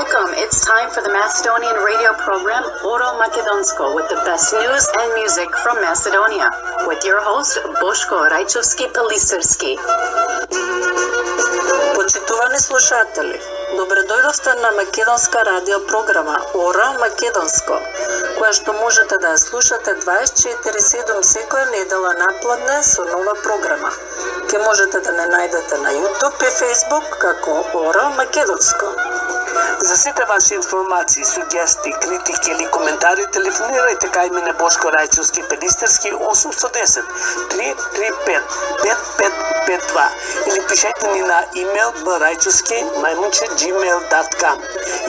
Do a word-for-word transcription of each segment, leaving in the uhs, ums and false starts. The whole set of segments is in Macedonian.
Welcome. It's time for the Macedonian radio program Oro Makedonsko with the best news and music from Macedonia with your host Boško Rajčovski-Peliserski. Почитувани слушатели, добре дојдовте на македонска радио програма Ора Македонско, која што можете да ја слушате дваесет и четири седум секоја недела напладне со нова програма. Ке можете да не најдете на YouTube и Facebook како Ора Македонско. За сите ваши информации, сугестии, критики или коментари телефонирајте кај мене Бошко Рајчовски-Пелистерски осум едно едно три три пет пет пет пет два или пишете ни на имейл барајчовски мајмунче gmail dot com.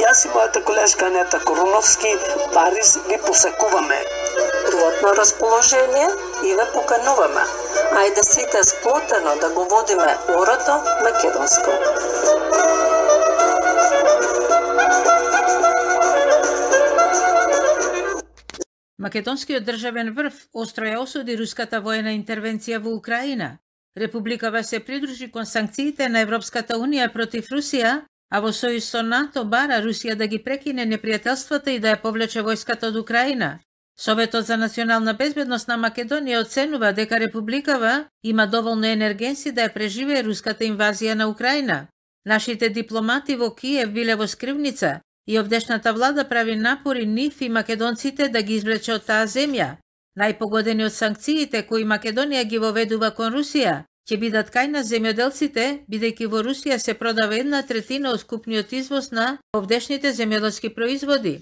Јас и мојата колешка Анета Коруновски Париз ви посакуваме. Пријатно расположение и ве покануваме. Ајде сите сплотено да го водиме орото македонско. Македонскиот државен врв остро ја осуди руската воена интервенција во Украина. Републикава се придружи кон санкциите на Европската унија против Русија, а во сојуз со НАТО бара Русија да ги прекине непријателствата и да ја повлече војската од Украина. Советот за национална безбедност на Македонија оценува дека Републикава има доволно енергенси да ја преживее руската инвазија на Украина. Нашите дипломати во Киев биле во скривница и овдешната влада прави напори нив и македонците да ги извлече од таа земја. Најпогодени од санкциите кои Македонија ги воведува кон Русија ќе бидат кај на земјоделците, бидејќи во Русија се продава една третина од скупниот извоз на овдешните земјоделски производи.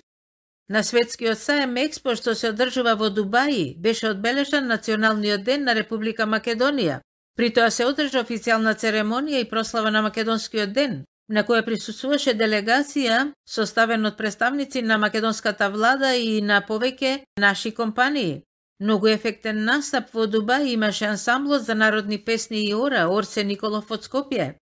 На светскиот саем Експо што се одржува во Дубаи беше одбележан Националниот ден на Република Македонија. При тоа се одржа официјална церемонија и прослава на Македонскиот ден, на која присуствуваше делегација составена од представници на македонската влада и на повеќе наши компании. Многу ефектен настап во Дубај имаше ансамблот за народни песни и ора Орсе Николов од Скопје.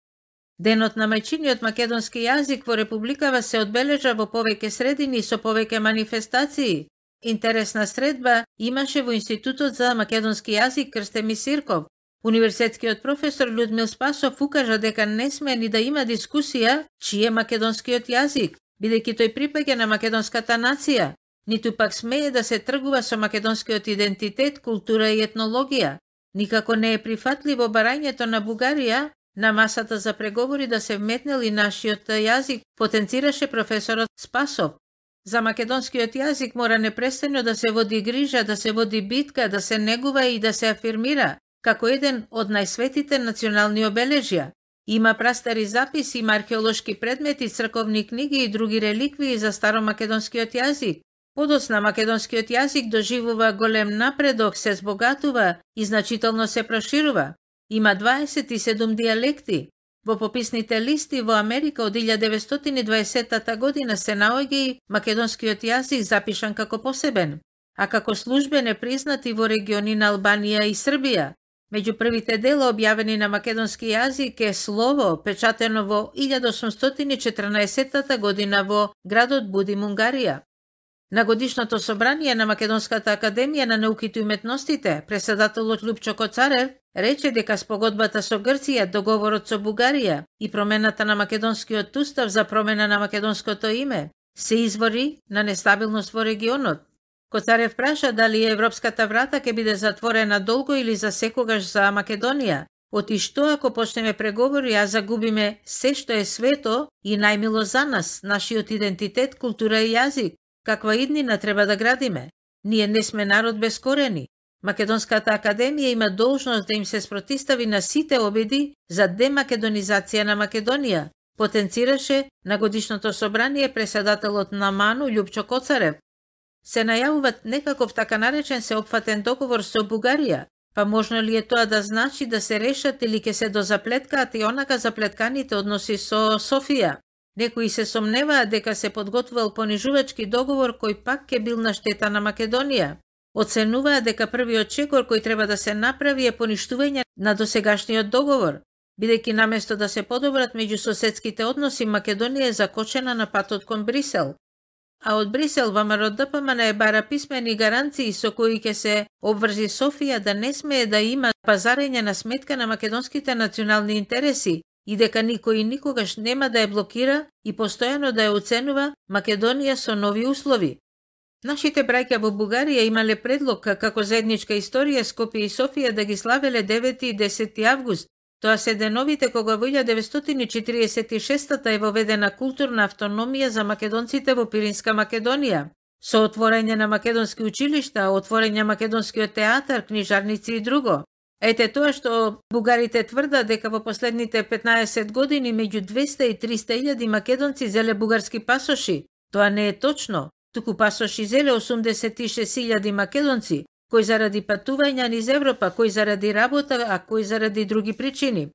Денот на мајчиниот македонски јазик во Републикава се одбележа во повеќе средини со повеќе манифестации. Интересна средба имаше во Институтот за македонски јазик Крстеми Сирков. Универзитетскиот професор Людмил Спасов укажа дека не сме ни да има дискусија чиј е македонскиот јазик, бидејќи тој припаѓа на македонската нација, ниту пак смее да се тргува со македонскиот идентитет, култура и етнологија. Никако не е прифатливо барањето на Бугарија на масата за преговори да се вметнел и нашиот јазик, потенцираше професорот Спасов. За македонскиот јазик мора непрестано да се води грижа, да се води битка, да се негува и да се афирмира како еден од најсветите национални обележја. Има прастари записи, има археолошки предмети, црковни книги и други реликвии за старомакедонскиот јазик. Подоцна македонскиот јазик доживува голем напредок, се збогатува и значително се проширува. Има дваесет и седум дијалекти. Во пописните листи во Америка од илјада деветстотини и дваесетта година се наоѓа и македонскиот јазик запишан како посебен, а како службен е признат и во региони на Албанија и Србија. Меѓу првите дела објавени на македонски јазик е Слово, печатено во илјада осумстотини и четрнаесетта година во градот Будим, Унгарија. На годишното собрание на Македонската академија на науките и уметностите, преседателот Лупчо Коцарев рече дека спогодбата со Грција, договорот со Бугарија и промената на македонскиот устав за промена на македонското име се извори на нестабилност во регионот. Коцарев праша дали европската врата ќе биде затворена долго или за секогаш за Македонија. Оти што ако почнеме преговори, а загубиме се што е свето и најмило за нас, нашиот идентитет, култура и јазик, каква иднина треба да градиме? Ние не сме народ без корени. Македонската академија има должност да им се спротистави на сите обиди за демакедонизација на Македонија, потенцираше на годишното собрание преседателот на МАНУ Лјупчо Коцарев. Се најавуваат некаков така наречен сеопфатен договор со Бугарија, па можно ли е тоа да значи да се решат или ќе се дозаплеткаат и онака заплетканите односи со Софија? Некои се сомневаат дека се подготвувал понижувачки договор кој пак ќе бил на штета на Македонија. Оценуваат дека првиот чекор кој треба да се направи е поништување на досегашниот договор, бидејќи наместо да се подобрат меѓусоседските односи, Македонија е закочена на патот кон Брисел. А од Брисел ВМРО Д П М Н е бара писмени гаранции со кои ќе се обврзи Софија да не смее да има пазарење на сметка на македонските национални интереси и дека никој никогаш нема да ја блокира и постојано да ја оценува Македонија со нови услови. Нашите браќа во Бугарија имале предлог како заедничка историја Скопје и Софија да ги славеле девети и десети август. Тоа се деновите кога во илјада деветстотини четиридесет и шеста е воведена културна автономија за македонците во Пиринска Македонија, со отворање на македонски училишта, отворање македонскиот театар, книжарници и друго. Ете тоа што бугарите тврдат дека во последните петнаесет години меѓу двеста и триста илјади македонци зеле бугарски пасоши. Тоа не е точно, туку пасоши зеле осумдесет и шест илјади македонци, кој заради патување низ Европа, кој заради работа, а кој заради други причини.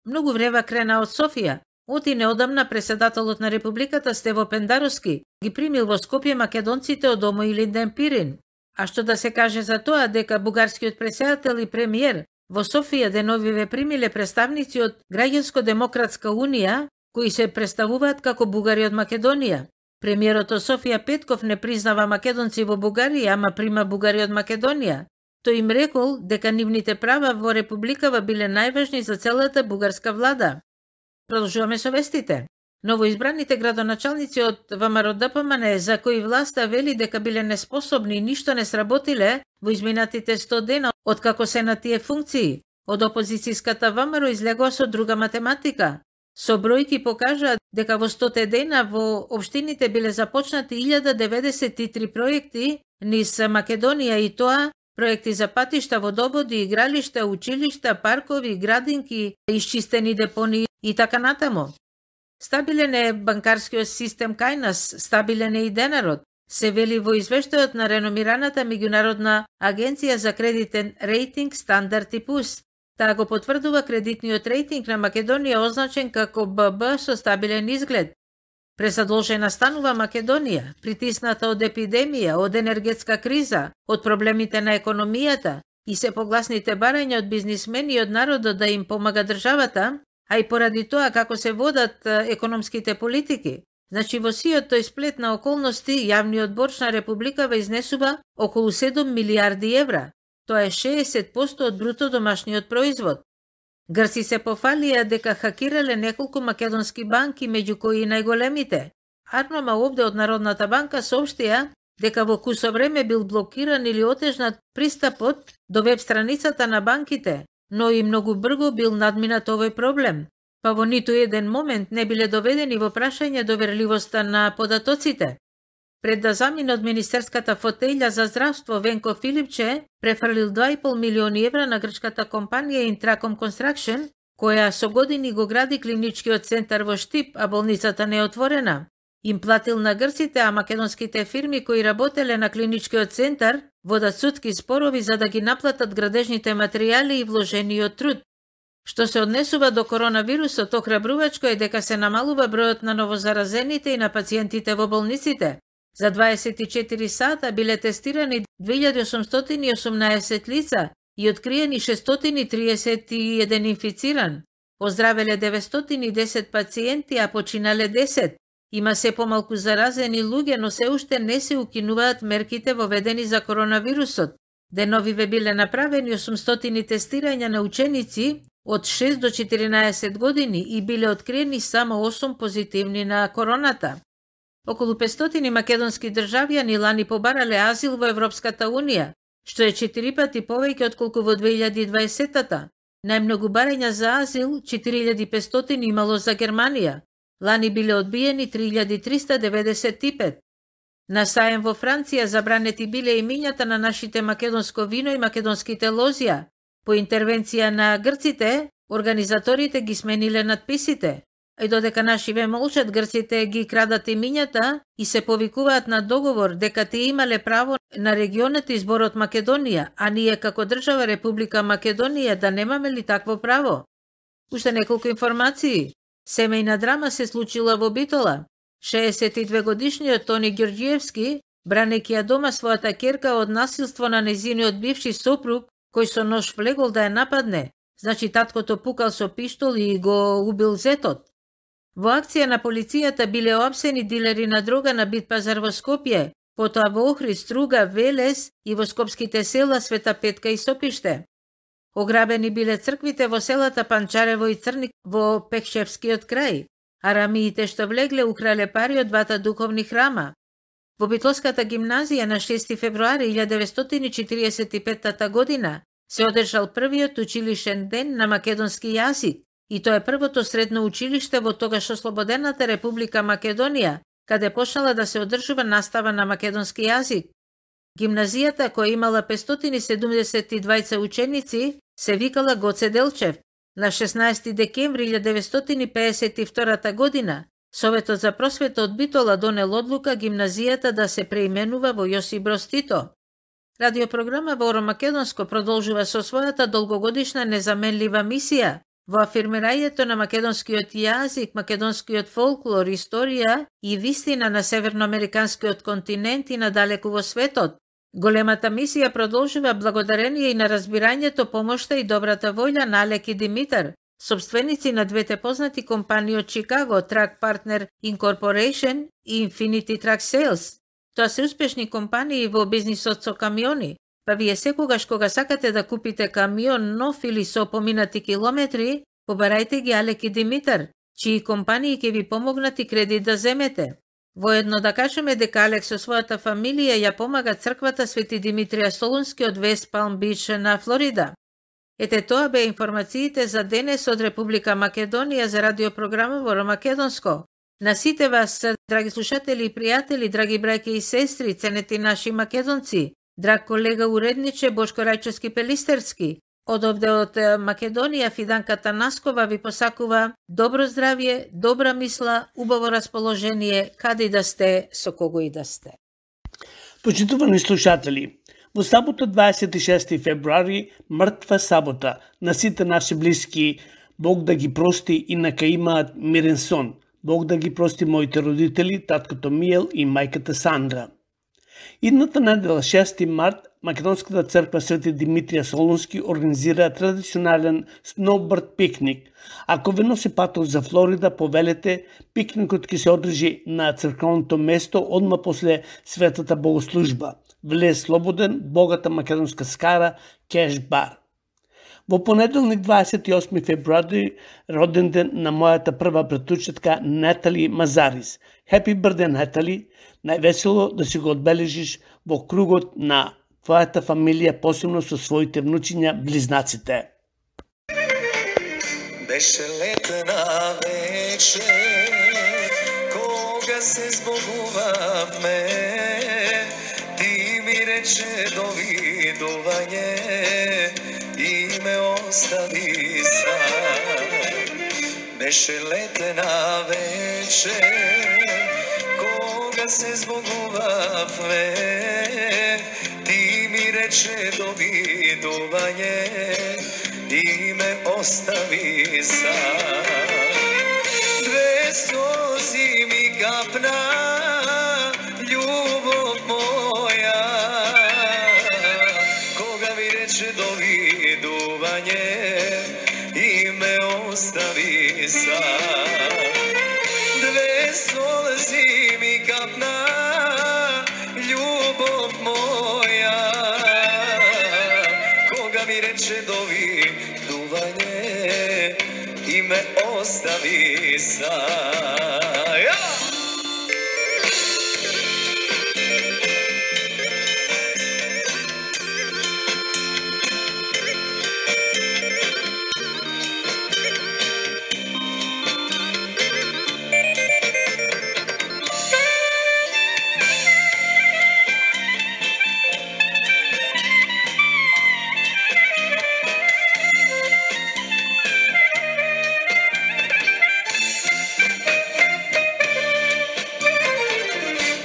Многу врева крена од Софија. Оти неодамна преседателот на Републиката Стево Пендаровски ги примил во Скопје македонците од Омо Илинден Пирин. А што да се каже за тоа дека бугарскиот преседател и премиер во Софија деновиве примиле представници од Граѓанско-демократска унија, кои се представуваат како бугари од Македонија. Премиерот од Софија Петков не признава македонци во Бугарија, ама прима бугари од Македонија. Тој им рекол дека нивните права во Републикава биле најважни за целата бугарска влада. Продолжуваме со вестите. Новоизбраните градоначалници од ВМРО-ДПМН, за кои власта вели дека биле неспособни и ништо не сработиле во изминатите сто дена откако се на тие функции, од опозицијската ВМРО излегува со друга математика. Со бројки покажаат дека во сто дена во општините биле започнати илјада деветдесет и три проекти низ Македонија, и тоа проекти за патишта, водоводи, игралишта, училишта, паркови, градинки, исчистени депони и така натаму. Стабилен е банкарскиот систем кај нас, стабилен е и денарот, се вели во извештајот на реномираната меѓународна агенција за кредитен рейтинг Стандард и Пус. Таа го потврдува кредитниот рейтинг на Македонија означен како Б Б со стабилен изглед. Пресадолжена станува Македонија, притисната од епидемија, од енергетска криза, од проблемите на економијата и се погласните барања од бизнисмени и од народот да им помага државата, а и поради тоа како се водат економските политики. Значи во сиот тој сплет на околности, јавниот борч на Републикава изнесува околу седум милиарди евра. Тоа е шеесет проценти од бруто домашниот производ. Грци се пофалија дека хакирале неколку македонски банки, меѓу кои и најголемите. Арнома овде од Народната банка соопштија дека во кусо време бил блокиран или отежнат пристапот до веб страницата на банките, но и многу брзо бил надминат овој проблем, па во ниту еден момент не биле доведени во прашање доверливоста на податоците. Пред да замине од министерската фотеља за здравство, Венко Филипче префрлил два и пол милиони евра на грчката компанија Intracom Construction, која со години го гради клиничкиот центар во Штип, а болницата не е отворена. Им платил на грците, а македонските фирми кои работеле на клиничкиот центар водат судски спорови за да ги наплатат градежните материјали и вложениот труд. Што се однесува до коронавирусот, охрабрувачко е дека се намалува бројот на новозаразените и на пациентите во болниците. За дваесет и четири сата биле тестирани две илјади осумстотини и осумнаесет лица и откриени шестстотини и триесет и еден инфициран. Оздравеле деветстотини и десет пациенти, а починале десет. Има се помалку заразени луѓе, но се уште не се укинуваат мерките воведени за коронавирусот. Деновиве биле направени осумстотини тестирања на ученици од шест до четиринаесет години и биле откриени само осум позитивни на короната. Околу петстотини македонски државјани лани побарале азил во Европската унија, што е четири пати повеќе отколку во две илјади и дваесетта. Најмногу барања за азил, четири илјади и петстотини имало за Германија. Лани биле одбиени три илјади триста деветдесет и пет. На саем во Франција забранети биле имињата на нашите македонско вино и македонските лозија. По интервенција на грците, организаторите ги смениле надписите. И додека нашиве молчат, грците ги крадат имињата и се повикуваат на договор дека тие имале право на регионот и зборот Македонија, а ние како држава Република Македонија да немаме ли такво право? Уште неколку информации. Семејна драма се случила во Битола. шеесет и две годишниот Тони Ѓорѓиевски, бранејќи ја дома својата ќерка од насилство на нејзиниот бивши сопруг, кој со нож влегол да ја нападне. Значи таткото пукал со пиштол и го убил зетот. Во акција на полицијата биле оапсени дилери на дрога на Бит пазар во Скопје, потоа во Охрид, Струга, Велес и во скопските села Света Петка и Сопиште. Ограбени биле црквите во селата Панчарево и Црник во Пехшевскиот крај, а рамиите што влегле украле пари од двата духовни храма. Во Битолската гимназија на шести февруари илјада деветстотини и четиридесет и петта година се одржал првиот училишен ден на македонски јазик, и тоа е првото средно училиште во тогаш ослободената Република Македонија, каде почнала да се одржува настава на македонски јазик. Гимназијата, која имала петстотини и седумдесет и двајца ученици, се викала Гоце Делчев. На шеснаесети декември илјада деветстотини и педесет и втора година, Советот за просвета од Битола донел одлука гимназијата да се преименува во Јосип Броз Тито. Радиопрограма во Оро Македонско продолжува со својата долгогодишна незаменлива мисија во афирмирањето на македонскиот јазик, македонскиот фолклор, историја и вистина на северноамериканскиот континент и надалеку во светот. Големата мисија продолжува благодарение и на разбирањето, помошта и добрата воља на Алек и Димитар, собственици на двете познати компании од Чикаго, Track Partner Incorporation и Infinity Track Sales. Тоа се успешни компании во бизнисот со камиони, па вие секогаш кога сакате да купите камион нов или со поминати километри, побарајте ги Алек и Димитар, чии компании ќе ви помогнат и кредит да земете. Воедно да кажеме дека Алек со својата фамилија ја помага црквата Свети Димитрија Солунски од Вест Палм Бич на Флорида. Ете тоа беа информациите за денес од Република Македонија за радиопрограма во Оро Македонско. На сите вас, драги слушатели и пријатели, драги браќа и сестри, ценети наши македонци, драг колега уредниче Бошко Рајчовски Пелистерски, од овде од Македонија Фиданка Танаскова ви посакува добро здравје, добра мисла, убаво расположение, каде и да сте, со кого и да сте. Почитувани слушатели, во сабота дваесет и шести февруари, мртва сабота, на сите наши блиски, Бог да ги прости и нака имаат мирен сон. Бог да ги прости моите родители, таткото Миел и мајката Сандра. Идната недела, шести март, Македонската црква Свети Димитрија Солунски организира традиционален сноуборд пикник. Ако ве носи патот за Флорида, повелете, пикникот ќе се одржи на црквеното место одма после светата богослужба. Влез слободен, богата македонска скара, кеш бар. Во понеделник дваесет и осми февруари, роден ден на мојата прва братучетка Нетали Мазарис. Happy birthday, Нетали! Највесело да си го одбележиш во кругот на твојата фамилија, посебно со своите внучиња, близнаците. Беше летна вечер, кога се збогувавме, ти ми рече довидување и ме остави сам. Беше летна вечер, кога се збогувавме, ти ми рече довидување и ме остави сам. Две сози ми капна, љубов моја, кога ми рече довидување и ме остави сам. Две сози ми капна, љубов моја, кога ми рече довидување и ме остави сам.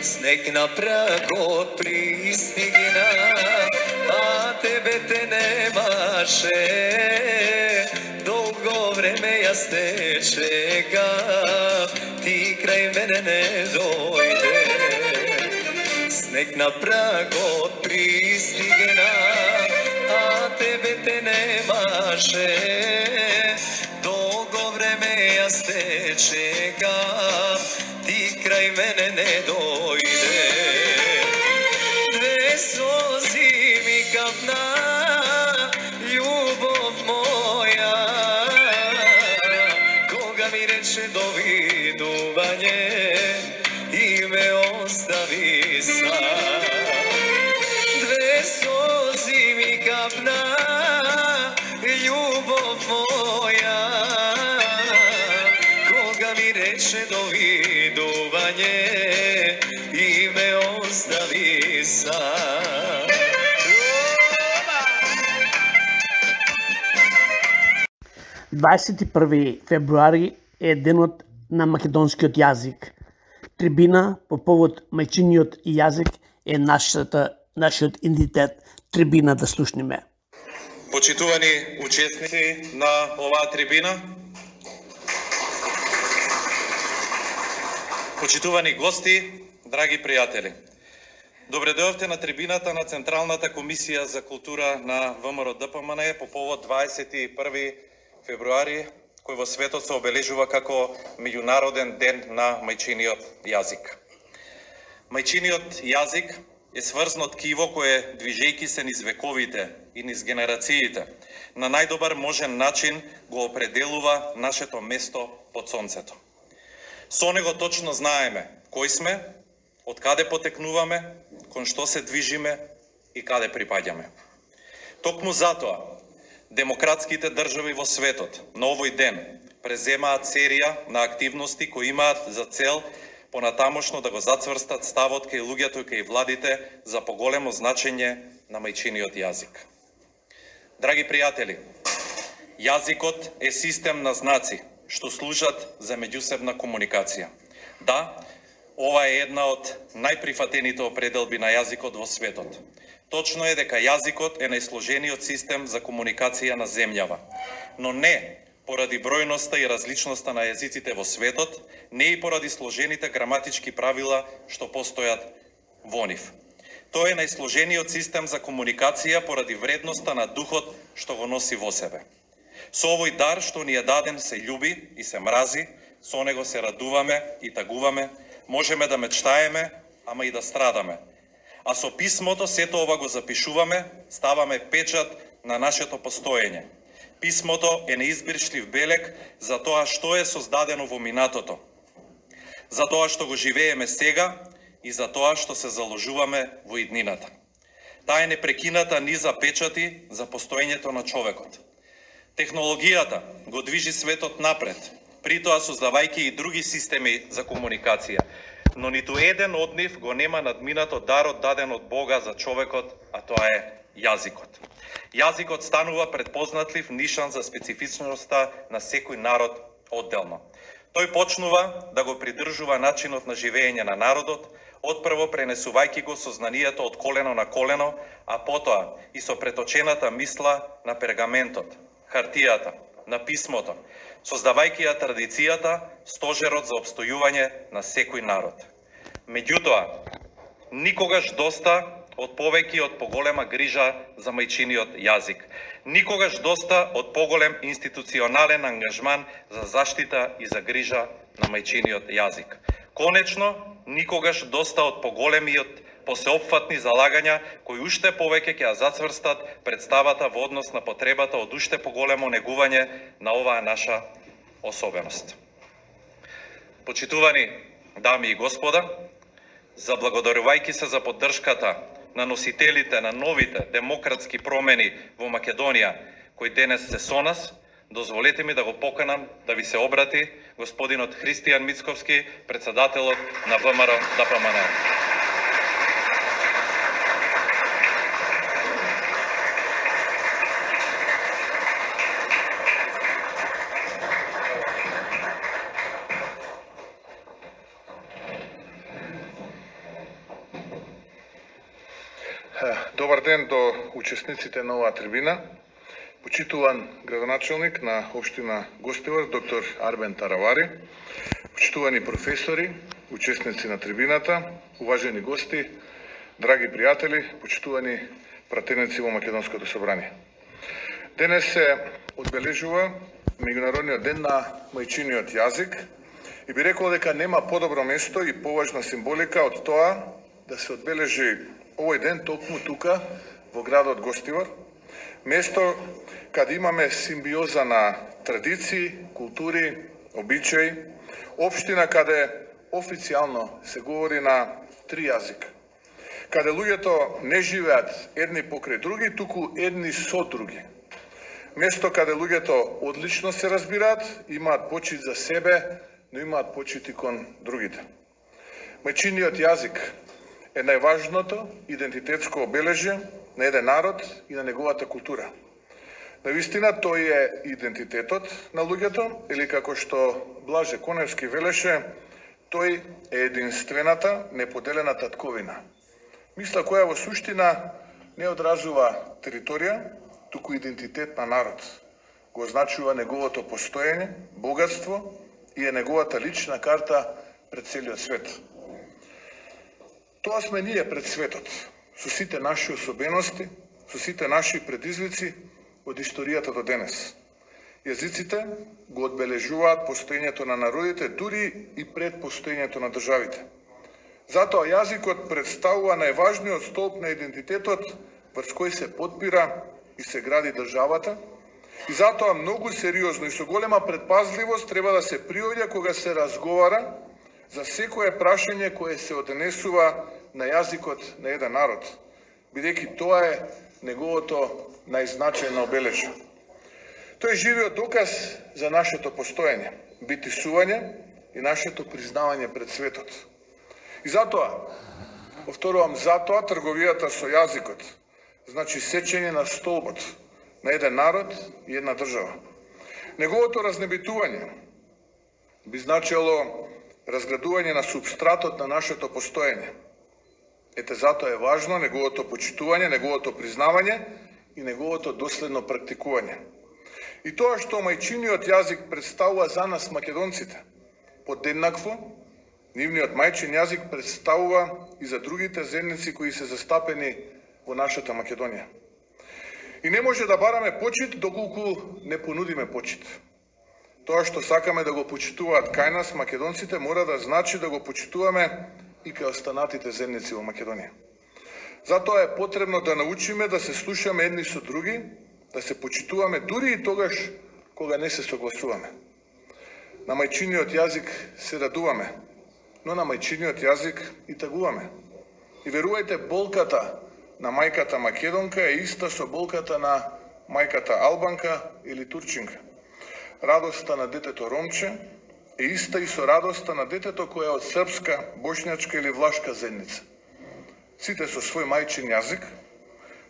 Снег на прагот пристигна, а тебе те немаше. Долго време јас те чекав, ти крај мене не дојде. Снег на прагот пристигна, а тебе те немаше. Долго време јас те чекав, ти крај мене не дојде. Две сози ми капна, љубов са. Две сози ми капна, љубов моја, кога ми рече довидување и ме остави сам. дваесет и први февруари е денот на македонскиот јазик. Трибина по повод мајчиниот јазик е нашата, нашиот идентитет. Трибина да слушниме. Почитувани учесници на оваа трибина, почитувани гости, драги пријатели. Добре дојдовте на трибината на Централната комисија за култура на ВМРО Д П М Н по повод дваесет и први февруари, кој во светот се обележува како меѓународен ден на мајчиниот јазик. Мајчиниот јазик е сврзано ткиво кое, движејќи се низ вековите и низ генерациите, на најдобар можен начин го определува нашето место под сонцето. Со него точно знаеме кој сме, од каде потекнуваме, кон што се движиме и каде припаѓаме. Токму затоа, демократските држави во светот на овој ден преземаат серија на активности кои имаат за цел понатамошно да го зацврстат ставот кај луѓето и кај владите за поголемо значење на мајчиниот јазик. Драги пријатели, јазикот е систем на знаци што служат за меѓусебна комуникација. Да, ова е една од најприфатените определби на јазикот во светот. Точно е дека јазикот е најсложениот систем за комуникација на земјава, но не поради бројноста и различноста на јазиците во светот, не и поради сложените граматички правила што постојат во нив. Тоа е најсложениот систем за комуникација поради вредноста на духот што го носи во себе. Со овој дар што ни е даден се љуби и се мрази, со него се радуваме и тагуваме, можеме да мечтаеме, ама и да страдаме. А со писмото сето ова го запишуваме, ставаме печат на нашето постоење. Писмото е неизбришлив белег за тоа што е создадено во минатото, за тоа што го живееме сега и за тоа што се заложуваме во иднината. Таа е непрекината низа печати за постоењето на човекот. Технологијата го движи светот напред, притоа создавајќи и други системи за комуникација, но ниту еден од нив го нема надминато дарот даден од Бога за човекот, а тоа е јазикот. Јазикот станува предпознатлив нишан за специфичноста на секој народ одделно. Тој почнува да го придржува начинот на живење на народот, отпрво пренесувајќи го сознанието од колено на колено, а потоа и со преточената мисла на пергаментот, хартијата, на писмото, создавајќи ја традицијата, стожерот за обстојување на секој народ. Меѓутоа, никогаш доста од повеќе од поголема грижа за мајчиниот јазик. Никогаш доста од поголем институционален ангажман за заштита и за грижа на мајчиниот јазик. Конечно, никогаш доста од поголемиот посеопфатни залагања кои уште повеќе ќе ја зацврстат представата во однос на потребата од уште поголемо негување на оваа наша особеност. Почитувани дами и господа, заблагодарувајќи се за поддршката на носителите на новите демократски промени во Македонија, кои денес се со нас, дозволете ми да го поканам да ви се обрати господинот Христијан Мицковски, председателот на ВМРО Д П М Н. Добар ден до учесниците на оваа трибина. Почитуван градоначелник на општина Гостивар, доктор Арбен Таравари, почитувани професори, учесници на трибината, уважени гости, драги пријатели, почитувани пратеници во Македонското собрание. Денес се одбележува меѓународниот ден на мајчиниот јазик и би рекол дека нема подобро место и поважна символика од тоа да се одбележи овој ден токму тука во градот Гостивар, место каде имаме симбиоза на традиции, култури, обичаи, општина каде официјално се говори на три јазика. каде луѓето не живеат едни покрај други, туку едни со други. Место каде луѓето одлично се разбираат, имаат почит за себе, но имаат почит и кон другите. Мајчиниот јазик е најважното идентитетско обележје на еден народ и на неговата култура. Навистина тој е идентитетот на луѓето, или како што Блаже Коневски велеше, тој е единствената, неподелена татковина. Мисла која во суштина не одразува територија, туку идентитет на народ. Го означува неговото постоење, богатство и е неговата лична карта пред целиот свет. Тоа сме ние пред светот, со сите наши особености, со сите наши предизвици од историјата до денес. Јазиците го одбележуваат постоењето на народите, дури и пред постоењето на државите. Затоа јазикот представува најважниот столб на идентитетот врз кој се подпира и се гради државата, и затоа многу сериозно и со голема предпазливост треба да се приоѓа кога се разговара за секое прашање кое се однесува на јазикот на еден народ, бидејќи тоа е неговото најзначајно обележје. Тој е живиот доказ за нашето постоење, битисување и нашето признавање пред светот. И затоа, повторувам, затоа трговијата со јазикот значи сечење на столбот на еден народ и една држава. Неговото разнебитување би значило разградување на субстратот на нашето постоење. Ете затоа е важно неговото почитување, неговото признавање и неговото доследно практикување. И тоа што мајчиниот јазик представува за нас македонците, подеднакво, нивниот мајчин јазик представува и за другите земјици кои се застапени во нашата Македонија. И не може да бараме почит доколку не понудиме почит. Тоа што сакаме да го почитуваат кај нас македонците мора да значи да го почитуваме и кај останатите земјици во Македонија. Затоа е потребно да научиме да се слушаме едни со други, да се почитуваме дури и тогаш кога не се согласуваме. На мајчиниот јазик се радуваме, но на мајчиниот јазик и тагуваме. И верувајте, болката на мајката македонка е иста со болката на мајката албанка или турчинка. Радоста на детето ромче е иста и со радоста на детето кој е од српска, бошњачка или влашка заедница. Сите со свој мајчин јазик,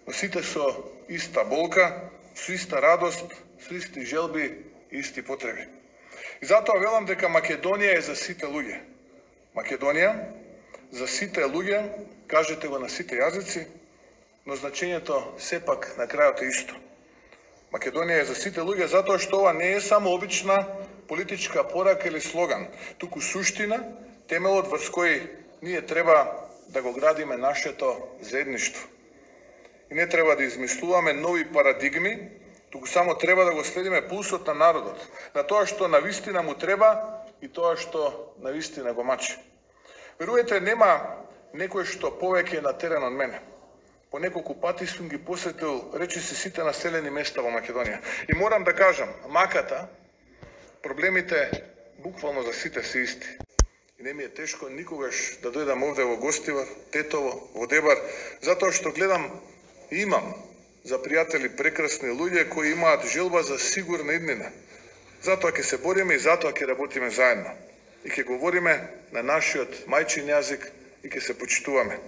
но сите со иста болка, со иста радост, со исти желби и исти потреби. И затоа велам дека Македонија е за сите луѓе. Македонија за сите луѓе, кажете го на сите јазици, но значењето сепак на крајот е исто. Македонија е за сите луѓе затоа што ова не е само обична политичка порака или слоган, туку суштина, темелот врз кој ние треба да го градиме нашето заедништво. И не треба да измислуваме нови парадигми, туку само треба да го следиме пулсот на народот, на тоа што навистина му треба и тоа што навистина го мачи. Веруете, нема некој што повеќе на терен од мене. По неколку пати сум ги посетил речиси сите населени места во Македонија. И морам да кажам, маката, проблемите буквално за сите се исти. И не ми е тешко никогаш да дојдам овде во Гостивар, Тетово, во Дебар, затоа што гледам и имам за пријатели прекрасни луѓе кои имаат желба за сигурна иднина. Затоа ќе се бориме и затоа ќе работиме заедно. И ќе говориме на нашиот мајчин јазик и ќе се почитуваме.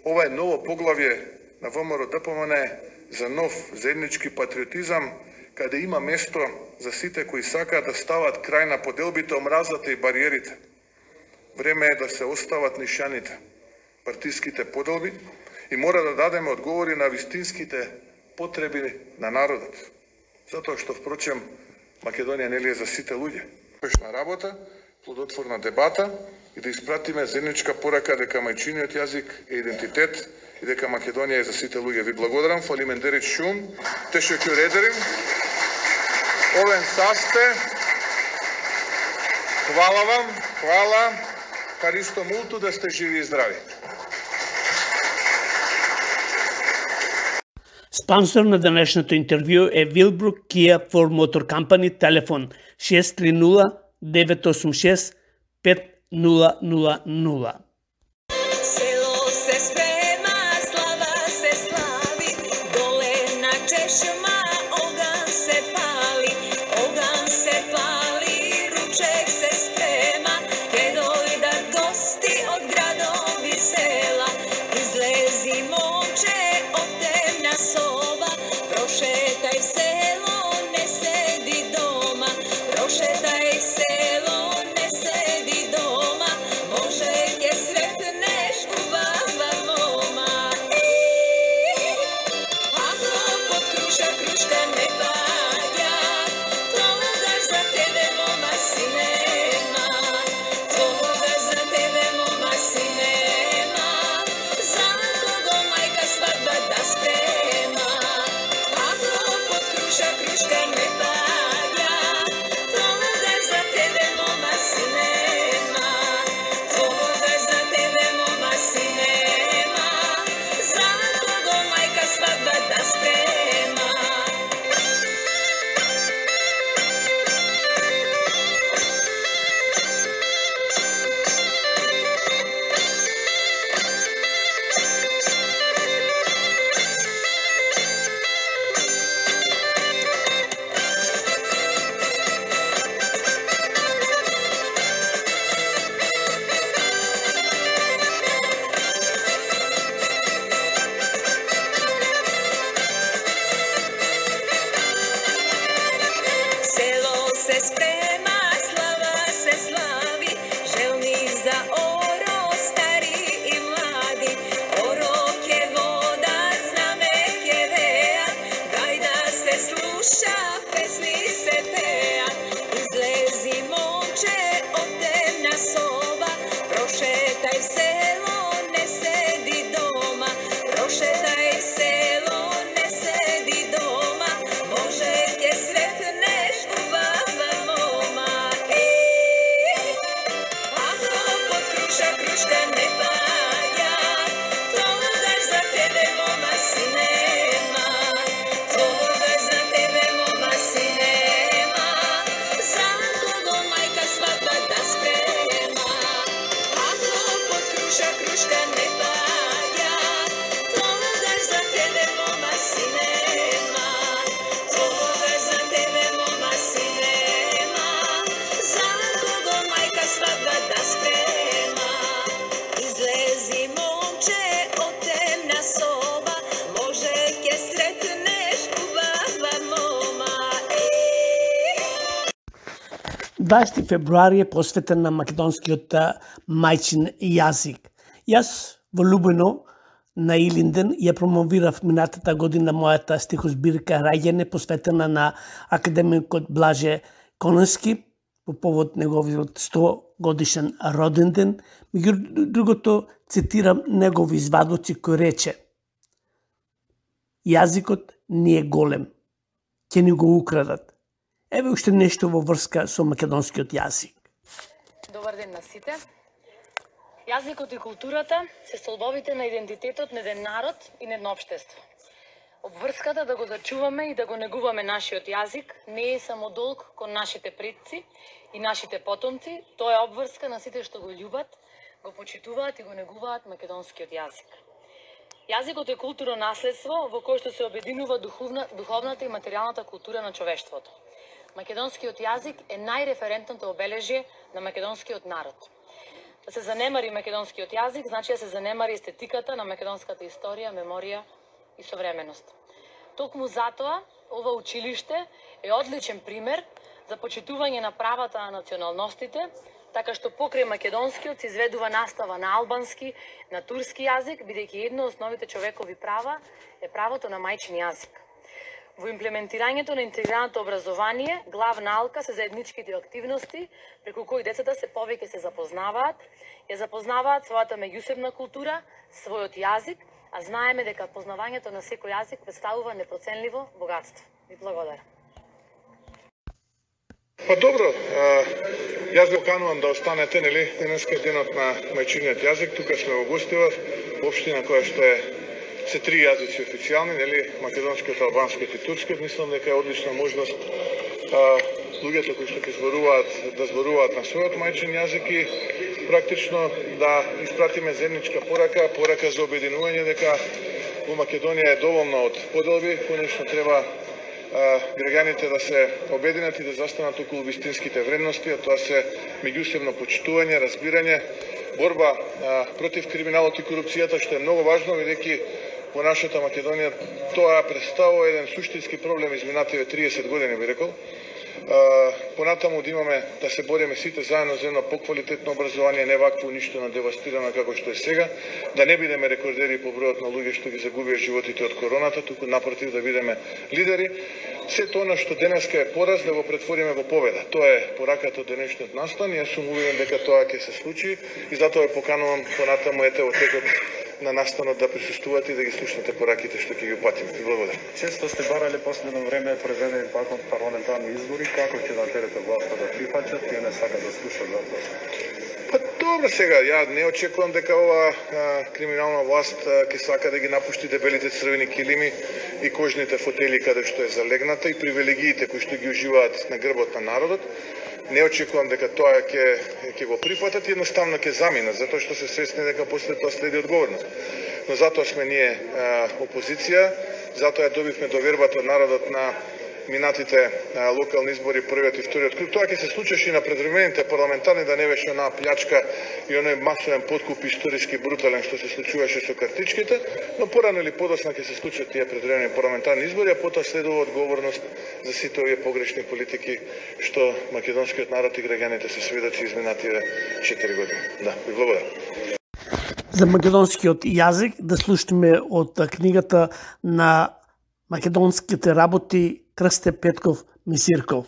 Ова е ново поглавје на ВМРО-ДПМН за нов заеднички патриотизам, каде има место за сите кои сакаат да стават крај на поделбите, омразата и бариерите. Време е да се остават нишаните, партиските поделби и мора да дадеме одговори на вистинските потреби на народот. Затоа што, впрочем, Македонија нели е за сите луѓе. Успешна работа, плодотворна дебата и да испратиме заедничка порака дека мајчиниот јазик е идентитет и дека Македонија е за сите луѓе. Ви благодарам, фалимендерит шум, тешеќу редерим, овен састе, хвала вам, хвала, Харисто мулту, да сте живи и здрави. Спонсор на денешното интервју е Вилбрук Kia for Motor Company, телефон шест три нула девет осум шест пет нула нула нула. Село се спре круша, крушка не паѓа, тогаш за тебе мома си нема, тогаш за тебе мома си нема, за кого мајка свадба да спрема. Ако под круша, крушка не паѓа, тогаш за тебе мома си нема, тогаш за тебе мома си нема, за кого мајка свадба да спрема. Излези момче од темна соба, може ќе сретнеш убава мома. дваесети февруари е посветен на македонскиот мајчин јазик. Јас во Лубено на Илинден ја промовирав минатата година мојата стихозбирка Раѓене, посветена на академикот Блаже Конески по повод неговиот сто годишен роден ден. Меѓу другото цитирам негови извадоци кој рече: јазикот не е голем, ќе ни го украдат. Еве уште нешто во врска со македонскиот јазик. Добар ден на сите. Јазикот и културата се столбовите на идентитетот на еден народ и на едно општество. Обврската да го зачуваме и да го негуваме нашиот јазик не е само долг кон нашите предци и нашите потомци, тоа е обврска на сите што го љубат, го почитуваат и го негуваат македонскиот јазик. Јазикот е културно наследство во кое што се обединува духовна, духовната и материјалната култура на човештвото. Македонскиот јазик е најреферентното обележје на македонскиот народ. Да се занемари македонскиот јазик значи да се занемари естетиката на македонската историја, меморија и современост. Токму затоа, ова училиште е одличен пример за почитување на правата на националностите, така што покрај македонскиот се изведува настава на албански, на турски јазик, бидејќи едно од основните човекови права е правото на мајчин јазик. Во имплементирањето на интегрираното образование, главна алка се заедничките активности, преку кои децата се повеќе се запознаваат, ја запознаваат својата меѓусебна култура, својот јазик, а знаеме дека познавањето на секој јазик представува непроценливо богатство. Ви благодарам. Па добро, а, јас ве канувам да останете, нели, денеска денот на мајчиниот јазик, тука сме во Гостивар, општина која што е се три јазици официјални, нели, македонскиот, албанскиот и турскиот. Мислам дека е одлична можност а, луѓето кои што ќе зборуваат да зборуваат на својот мајчин јазик и практично да испратиме заедничка порака, порака за обединување дека во Македонија е доволно од поделби, конечно треба граѓаните да се обединат и да застанат околу вистинските вредности, а тоа се меѓусебно почитување, разбирање, борба а, против криминалот и корупцијата, што е многу важно, бидејќи во нашата Македонија тоа представува еден суштински проблем изминативе триесет години, би рекол. Uh, понатаму да имаме да се бориме сите заедно за едно поквалитетно образование, не вакво уништено, девастирано како што е сега, да не бидеме рекордери по бројот на луѓе што ги загубија животите од короната, туку напротив да бидеме лидери. Сето она што денеска е пораз да го претвориме во победа. Тоа е пораката од денешниот настан. Јас сум уверен дека тоа ќе се случи и затоа ве поканувам понатаму ете во текот на настанот да присуствувате и да ги слушнете пораките што ќе ги упатиме. Благодарам. Често сте барале последно време преведени пак од парламентарни избори, како ќе да терете власта да прифаќат, тие не сакат да слушат за тоа? Па добро сега, ја не очекувам дека ова а, криминална власт а, ќе сака да ги напушти дебелите црвени килими и кожните фотели каде што е залегната и привилегиите кои што ги уживаат на грбот на народот. Не очекувам дека тоа ќе ќе го прифатат и едноставно ќе заминат, затоа што се свесни дека после тоа следи одговорност. Но затоа сме ние а, опозиција, затоа ја добивме довербата од народот на минатите а, локални избори, првиот и вториот круг. Тоа ќе се случеше и на предвремените парламентарни, да не беше онаа плјачка и оној масовен подкуп историски брутален што се случуваше со картичките, но порано или подоцна ќе се случат тие предвремени парламентарни избори, а потоа следува одговорност за сите овие погрешни политики што македонскиот народ и граѓаните се сведоци изминативе четири години. Да, ви благодарам. За македонскиот јазик да слушнеме од книгата на македонските работи Крсте Петков Мисирков.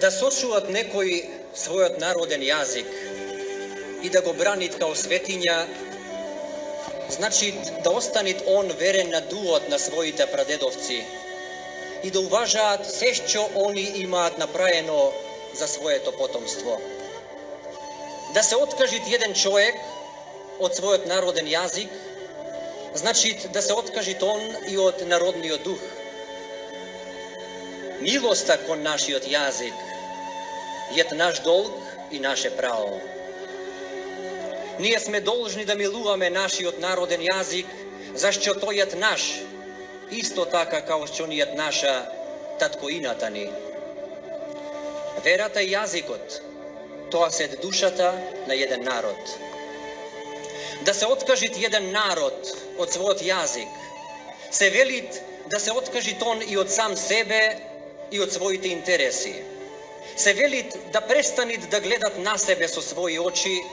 Да сочуват некој својот народен јазик и да го бранит као светиња, значи да останет он верен на дуот на своите прадедовци и да уважаат се што они имаат направено за своето потомство. Да се откажи еден човек од својот народен јазик, значи да се откажи он и од народниот дух. Милоста кон нашиот јазик е наш долг и наше право. Ние сме должни да милуваме нашиот народен јазик, зашто тој е наш, исто така као што ни е наша таткоината ни. Верата и јазикот, тоа се душата на еден народ. Да се откажи еден народ од својот јазик, се велит да се откажи он и од сам себе и од своите интереси. Се велит да престанит да гледат на себе со своји очи,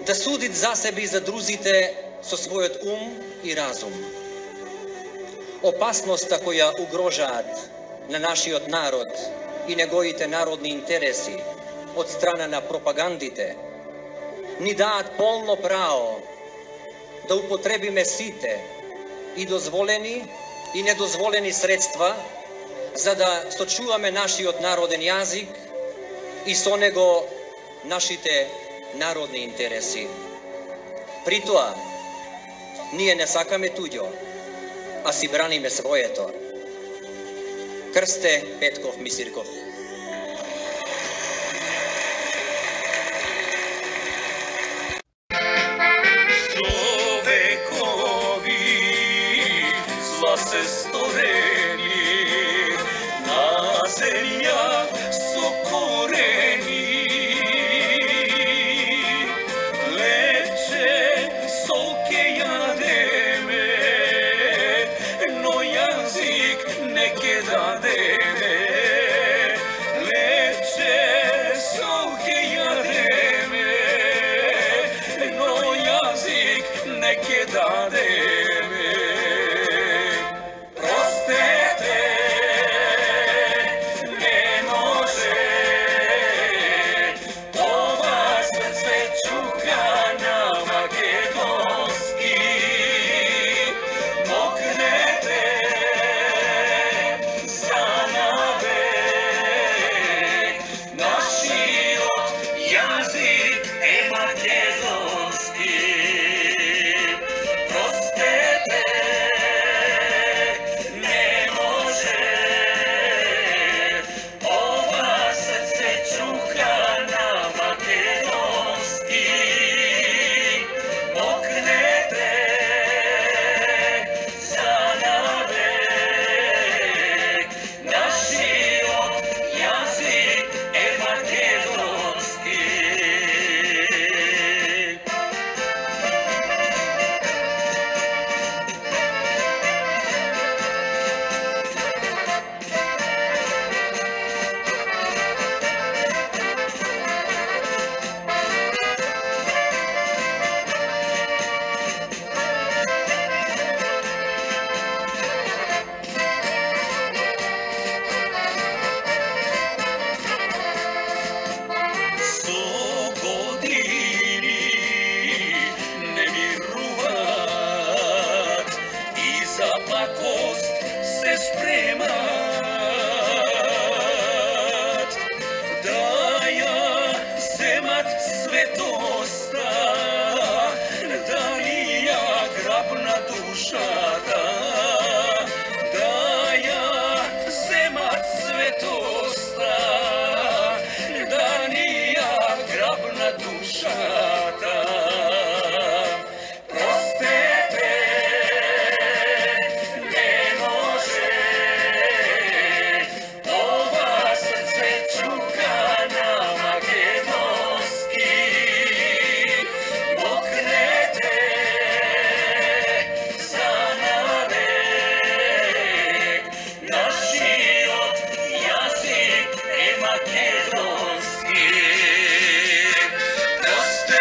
да судит за себе и за друзите со својот ум и разум. Опасноста која угрожаат на нашиот народ и неговите народни интереси од страна на пропагандите, ни даат полно право да употребиме сите и дозволени и недозволени средства за да сочуваме нашиот народен јазик и со него нашите народни интереси. При тоа, ние не сакаме туѓо, а си браниме своето. Крсте Петков Мисирков. Се сторени на земја со корени, лепче солке јадеме, но јазик не ке дадеме. Лепче солке јадеме, но јазик не ке дадеме. Stay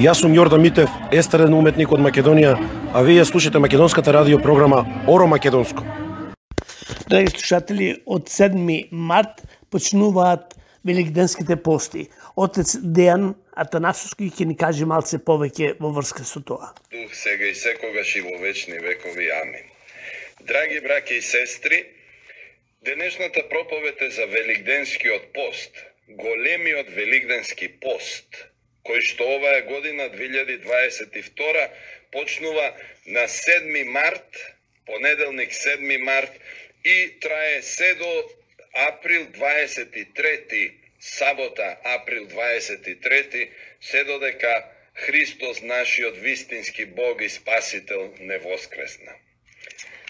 Јас сум Јордан Митев, естраден уметник од Македонија, а вие слушате македонската радио програма Оро Македонско. Драги слушатели, од седми март почнуваат великденските пости. Отец Дејан Атанасовски ќе ни каже малце повеќе во врска со тоа. Дух сега и секогаш и во вечни векови. Амин. Драги браќи и сестри, денешната проповед е за великденскиот пост, големиот великденски пост, кој што оваа година две илјади дваесет и втора почнува на седми март, понеделник седми март и трае се до април дваесет и трети, сабота април дваесет и трети, се додека Христос, нашиот вистински Бог и Спасител, не воскресна.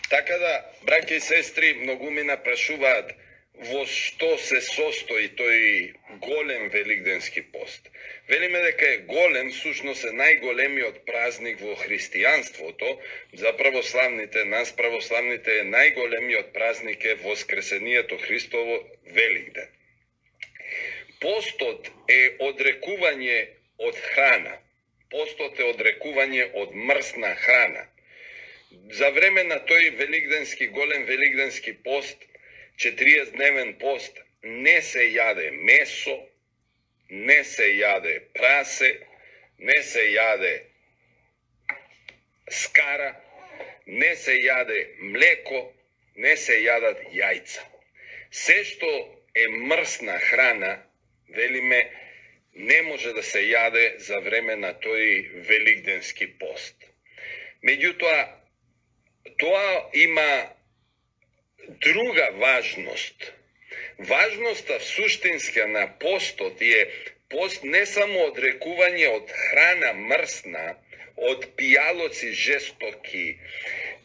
Така да, браќи и сестри, многу ми напрашуваат во што се состои тој голем великденски пост. Велиме дека е голем, сушност е најголемиот празник во христијанството. За православните, нас православните е најголемиот празник е Воскресението Христово, Великден. Постот е одрекување од храна. Постот е одрекување од мрсна храна. За време на тој великденски, голем великденски пост, четириесетдневен пост, не се јаде месо, не се јаде прасе, не се јаде скара, не се јаде млеко, не се јадат јајца. Се што е мрсна храна, велиме, не може да се јаде за време на тој великденски пост. Меѓутоа, тоа има друга важност. Важноста суштинска на постот е пост не само одрекување од храна мрсна, од пијалоци жестоки,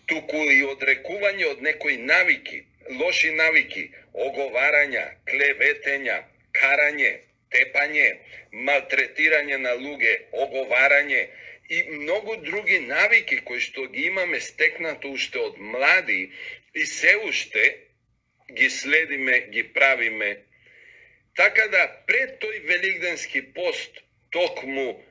туку и одрекување од некои навики, лоши навики, оговарања, клеветења, карање, тепање, малтретирање на луѓе, оговарање и многу други навики кои што ги имаме стекнато уште од млади и се уште ги следиме, ги правиме. Така да пред тој великденски пост токму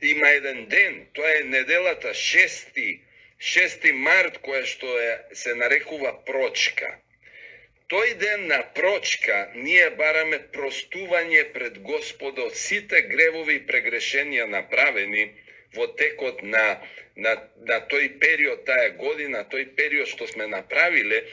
има еден ден, тоа е неделата шести, шести март, која што е, се нарекува прочка. Тој ден на прочка ние бараме простување пред Господа од сите гревови и прегрешенија направени во текот на, на, на тој период, таа година, тој период што сме направиле,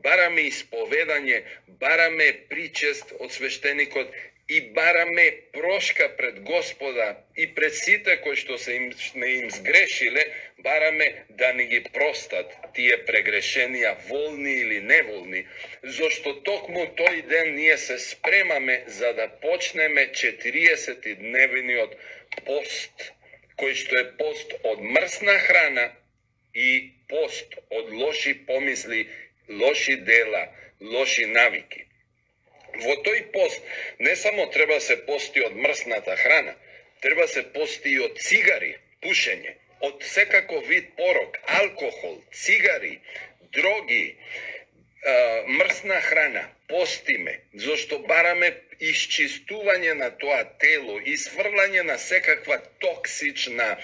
бараме исповедање, бараме причест од свештеникот и бараме прошка пред Господа и пред сите кои што се им, сме им сгрешиле, бараме да ни ги простат тие прегрешенија, волни или неволни, зашто токму тој ден ние се спремаме за да почнеме четириесетдневниот пост, кој што е пост од мрсна храна и пост од лоши помисли, лоши дела, лоши навики. Во тој пост не само треба се пости од мрсната храна, треба се пости и од цигари, пушење, од секако вид порок, алкохол, цигари, дроги, мрсна храна, постиме, зашто бараме исчистување на тоа тело, исфрлање на секаква токсична а,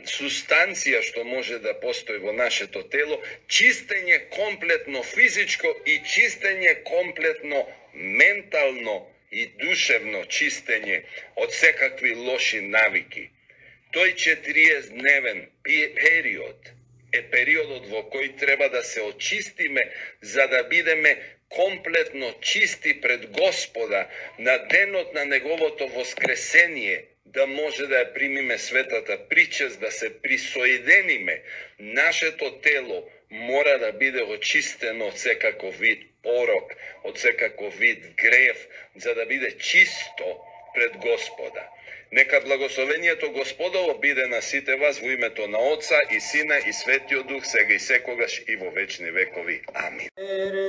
сустанција што може да постои во нашето тело, чистење комплетно физичко и чистење комплетно ментално и душевно чистење од секакви лоши навики. Тој четириесетдневен период е периодот во кој треба да се очистиме за да бидеме комплетно чисти пред Господа на денот на Неговото воскресение, да може да ја примиме светата причест, да се присоединиме. Нашето тело мора да биде очистено од секаков вид порок, од секаков вид грев, за да биде чисто пред Господа. Нека благословението Господово биде на сите вас во името на Отца и Сина и Светиот Дух, сега и секогаш и во вечни векови. Амин.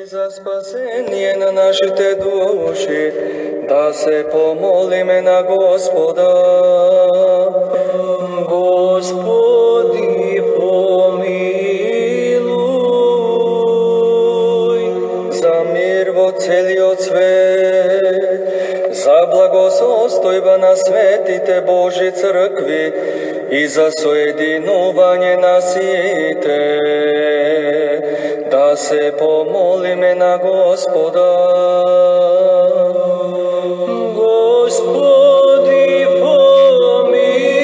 За спасение на нашите души, да се помолиме на Господа. Господи, помилуй, за мир во целиот свет, за благосостојба на светите Божи цркви, и за соединување на сите, да се помолиме на Господа. Господи, помилуј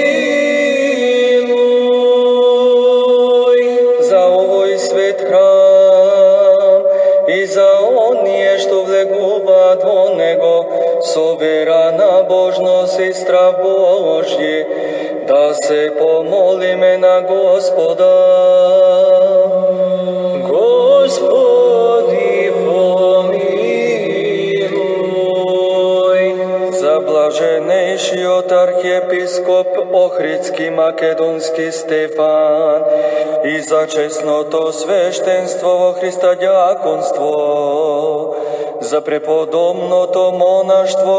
за овој свет храм и за оние што влегуваат во него со вера, набожност и страв Божји, да се помолиме на Господа. Господи, помилуј за блаженејшиот архиепископ Охридски македонски Стефан и за честното свештенство во Христа дјаконство, за преподобното монаштво,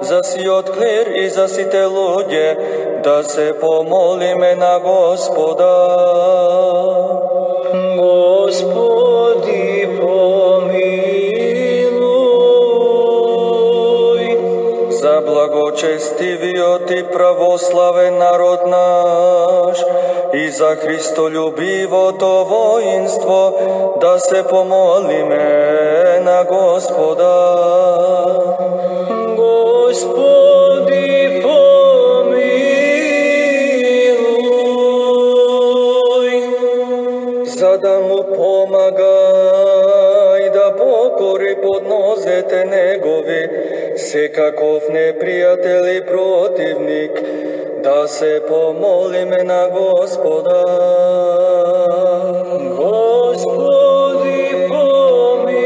за сиот клир и за сите луѓе, да се помолиме на Господа. Господи, помилуј за благочестивиот и православен народ наш и за христолюбивото воинство, да се помолиме на Господа. Господи, помилуј за да му помага и да покори под нозете негови секаков непријател и противник, да се помолиме на Господа. Господи, помилуј,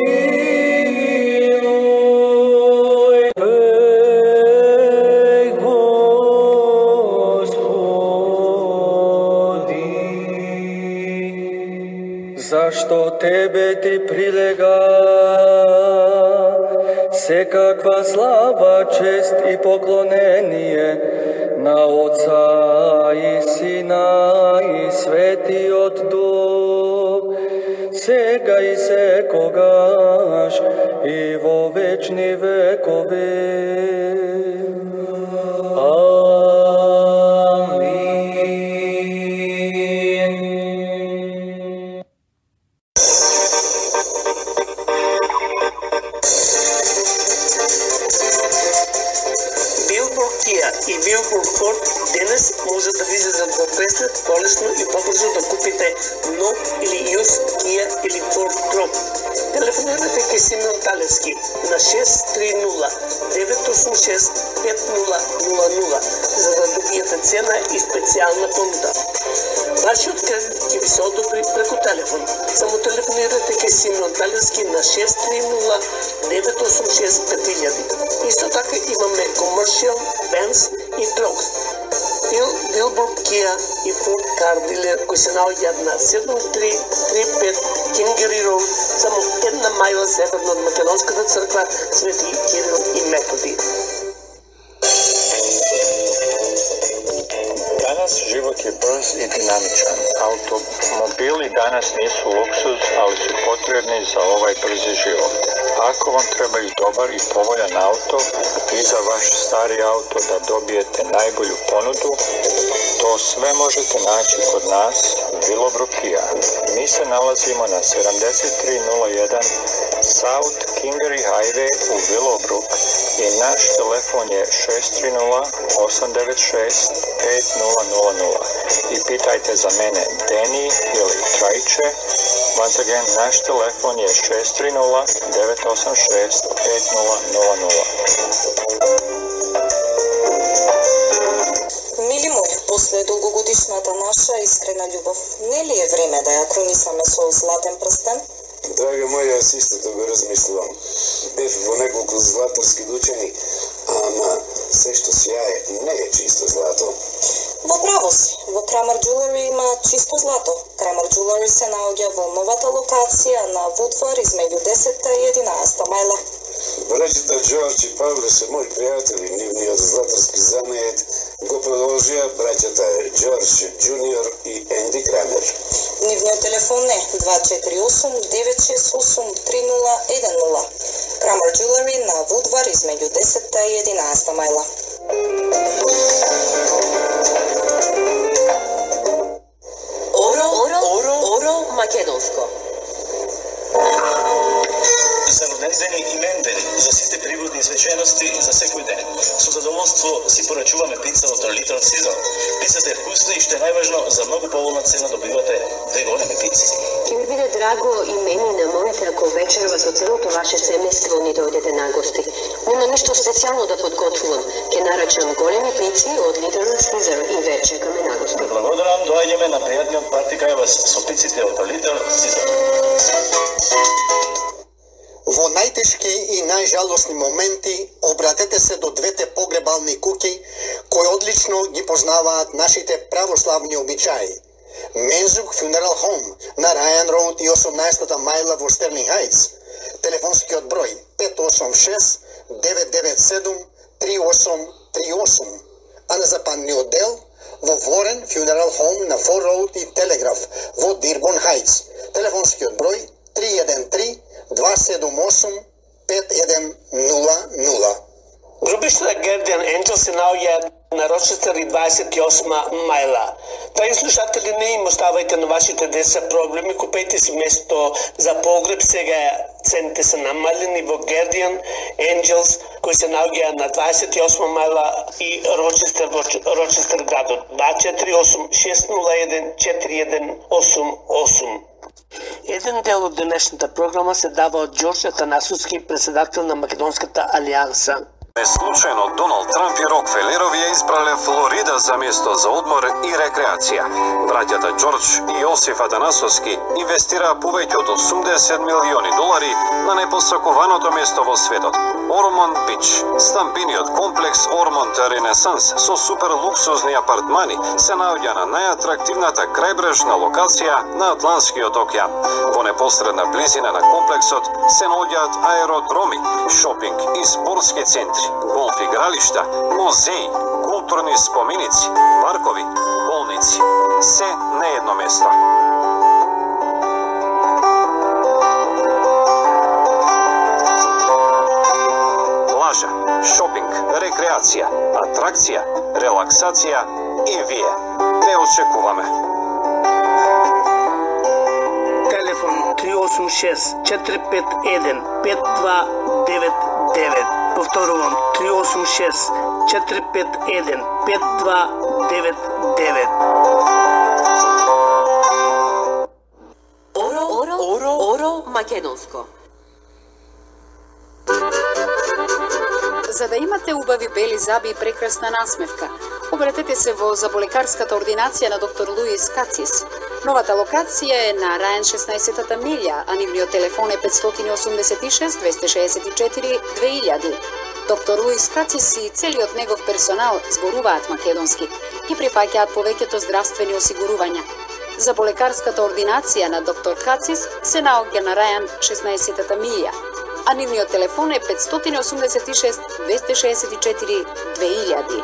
беј, Господи, зашто Тебе Ти прилега секаква слава, чест и поклонение на Отца и Сина и Светиот Дух, сега и секогаш и во вечни векови. И Билборд Форд денес може да ви излезат во Преслед полесно и побрзо да купите нов или јус Kia или Ford Tron. Телефонирате кај Симеон Талевски на шест три нула девет осум шест пет нула нула нула за да добиете цена и специјална понуда. Вашиот кредит ќе ви се одобри преку телефон. Само телефонирате кај Симеон Талевски на шест три нула девет осум шест пет илјади. Исто така имаме Commercial, Benz и Trucks. Билборд, Kia и Ford Car Dealer кои се наоѓаат на седум три три пет Кингери Роуд, само една мајла северно од Македонската црква Свети Кирил и Методи. Danas život je brz i dinamičan. Automobili danas nisu luksuz, ali su potrebni za ovaj brzi život. Ako vam trebaju dobar i povoljan auto i za vaš stari auto da dobijete najbolju ponudu, to sve možete naći kod nas, Willowbrook Kia. Mi se nalazimo na sedamdeset tri nula jedan South Kingery Highway u Willowbrook i naš telefon je šest tri nula osam devet šest pet nula nula nula. I pitajte za mene Deni ili Trajče. Once again, naš telefon je šest tri nula devet osam šest pet nula nula nula. Мили мои, после долгогодишната наша искрена љубов, не ли е време да ја кронисаме со златен прстен? Драга моја, јас исто да го размислувам. Бев во неколку златарски дучени, ама се што сјае не е чисто злато. Во право си, во Крамер Jewelry има чисто злато. Крамер Jewelry се наоѓа во новата локација на Вудвар измеѓу десетта и единаесетта мајла. Браќата Џорџ и Павле се мои пријатели, нивниот златарски занает го продолжија браќата Џорџ Џуниор и Енди Крамер. Нивниот телефон е два четири осум девет шест осум три нула еден нула. Крамер Jewelry на Вудвар измеѓу десетта и единаесетта мајла. посвечености за секој ден. Со задоволство си порачуваме пица од Little Caesar. Пицата е вкусна и што е најважно, за многу поволна цена добивате две големи пици. Ќе ми биде драго и мене на моите ако вечерва со целото ваше семејство ни дојдете на гости. Нема ништо специјално да подготвувам. Ќе нарачам големи пици од Little Caesar и ве чекаме на гости. Благодарам, доаѓаме на пријатниот парти кај вас со пиците од Little Caesar. Во најтешки и најжалосни моменти обратете се до двете погребални куќи кои одлично ги познаваат нашите православни обичаи. Мензук Funeral Home на Ryan Road и осумнаесетта мајла во Стерлинг Хајтс. Телефонскиот број пет осум шест девет девет седум три осум три осум. А на западниот дел во Warren Funeral Home на Ford Road и Телеграф во Дирбон Хајтс. Телефонскиот број три еден три два седум осум пет еден нула нула. Групишта Guardian Angels се наоѓаат на Рочестер и дваесет и осма мајла. Драги слушатели, не им оставајте на вашите деца проблеми, купејте си место за погреб, сега цените се намалени во Guardian Angels, кои се наоѓаат на дваесет и осма мајла и Рочестер во Рочестер градот. два четири осум шест нула еден четири еден осум осум. Еден дел од денешната програма се дава од Ѓорџ Атанасовски, председател на Македонската алијанса. Случајно Доналд Трамп и Рокфелерови ја избрале Флорида за место за одмор и рекреација. Браќата Ѓорџ и Јосиф Атанасовски инвестираа повеќе од осумдесет милиони долари на непосакуваното место во светот. Ормонд Бич, стамбениот комплекс Ормонд Ренесанс со супер луксузни апартмани се наоѓа на најатрактивната крајбрежна локација на Атлантскиот океан. Во непосредна близина на комплексот се наоѓаат аеродроми, шопинг и спортски центри, голф игралишта, музеи, културни споменици, паркови, болници. Се на едно место. Плажа, шопинг, рекреација, атракција, релаксација и вие. Те очекуваме. Телефон три осум шест четири пет еден пет два девет девет. Повторувам, три осум шест четири пет еден пет два девет девет. Оро, оро, оро, оро македонско. За да имате убави бели заби и прекрасна насмевка, обратете се во заболекарската ординација на доктор Луис Кацис. Новата локација е на Рајан шеснаесетта милја, а нивниот телефон е пет осум шест двеста шеесет и четири две илјади. Доктор Луис Кацис и целиот негов персонал зборуваат македонски и прифаќаат повеќето здравствени осигурувања. Заболекарската ординација на доктор Кацис се наоѓа на Рајан шеснаесетта милја, а нивниот телефон е пет осум шест двеста шеесет и четири две илјади.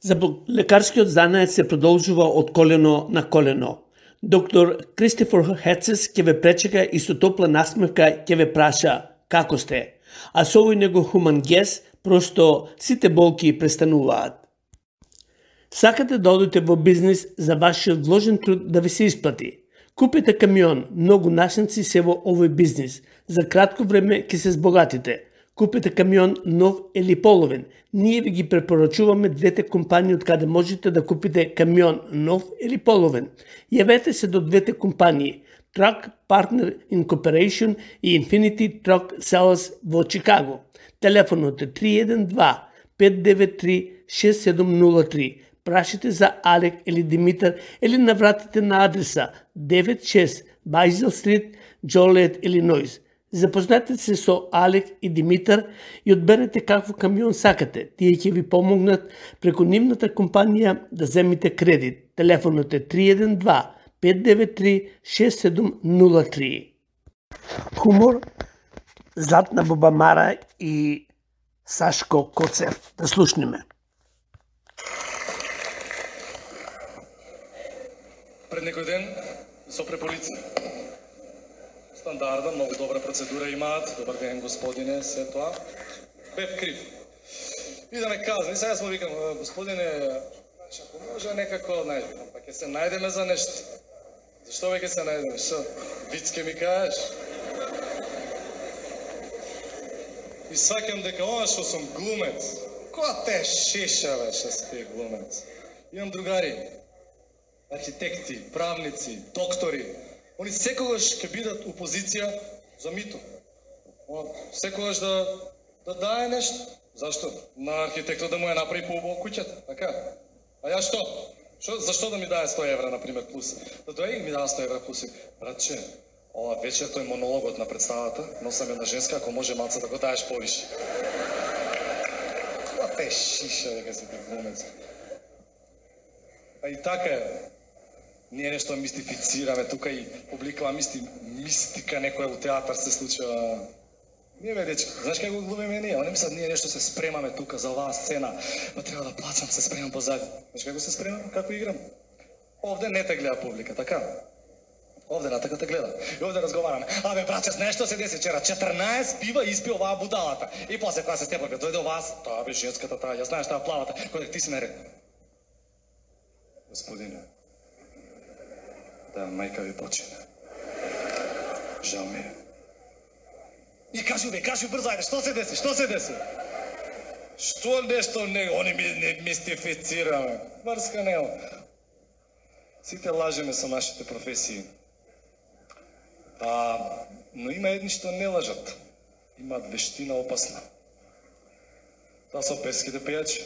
Заболекарскиот занает се продолжува од колено на колено. Доктор Кристофер Хецес ќе ве пречека и со топла насмевка ќе ве праша како сте, а со овој него хуман гес просто сите болки престануваат. Сакате да одите во бизнис за вашиот вложен труд да ви се исплати? Купите камион, многу нашници се во овој бизнис. За кратко време ќе се збогатите. Купите камион нов или половен. Ние ви ги препорачуваме двете компании од каде можете да купите камион нов или половен. Јавете се до двете компании Truck Partner Incorporation и Infinity Truck Sales во Чикаго. Телефонот е три еден два пет девет три шест седум нула три. Прашите за Алек или Димитар или навратите на адреса девет шест Байзел Стрит, Джолиет, Илиноис. Запознате се со Алек и Димитар и одберете какво камион сакате. Тие ќе ви помогнат преку нивната компанија да земите кредит. Телефонот е три еден два пет девет три шест седум нула три. Хумор, Златна Бубамара и Сашко Коцев. Да слушнеме. Пред некој ден со преполица. Стандардна, многу добра процедура имаат. Добар ден, господине, се тоа. Бев крив. И да ме казни, сега смо викам, господине, ако може некако, најдем, па ќе се најдеме за нешто. Зашто веќе се најдеме? Шо? Виц ке ми кажеш? И сваќам дека ова што сум глумец, која те шеша бе што си глумец. Имам другари, архитекти, правници, доктори, они секогаш ќе бидат у позиција за мито. Секогаш да да дае нешто. Зашто? На архитектот да му ја направи поубаво куќата, така? А ја што? Шо, зашто да ми даде сто евра, например, плюс? Да дојде и ми даде сто евра плюс. Братче, ова вечер тој монологот на представата, носам една женска, ако може малце да го даеш повише. Која те шиша, дека си ти глумец. А и така е. Ние нешто мистифицираме тука и публикава мисти, мистика некоја у театар се случува. Ние бе дечки, знаеш како го глумиме ние? Они мислат ние нешто се спремаме тука за оваа сцена, па треба да плачам, се спремам позади. Знаеш како се спремам? Како играм? Овде не те гледа публика, така? Овде на така те гледа. И овде разговараме. Абе, браче, знаеш што се деси вчера? четрнаесет пива испи оваа будалата. И после кога се степа, бе, дојде оваа, таа бе женската таа, ја знаеш таа плавата, кој ти си наред. Господине, да мајка ви почине. Жал ми е. И кажи бе, кажи брзо, ајде, што се деси, што се деси? Што нешто не, они ми не мистифицираме. Врска нема. Сите лажеме со нашите професии. А, но има едни што не лажат. Имаат вештина опасна. Таа се оперските пејачи.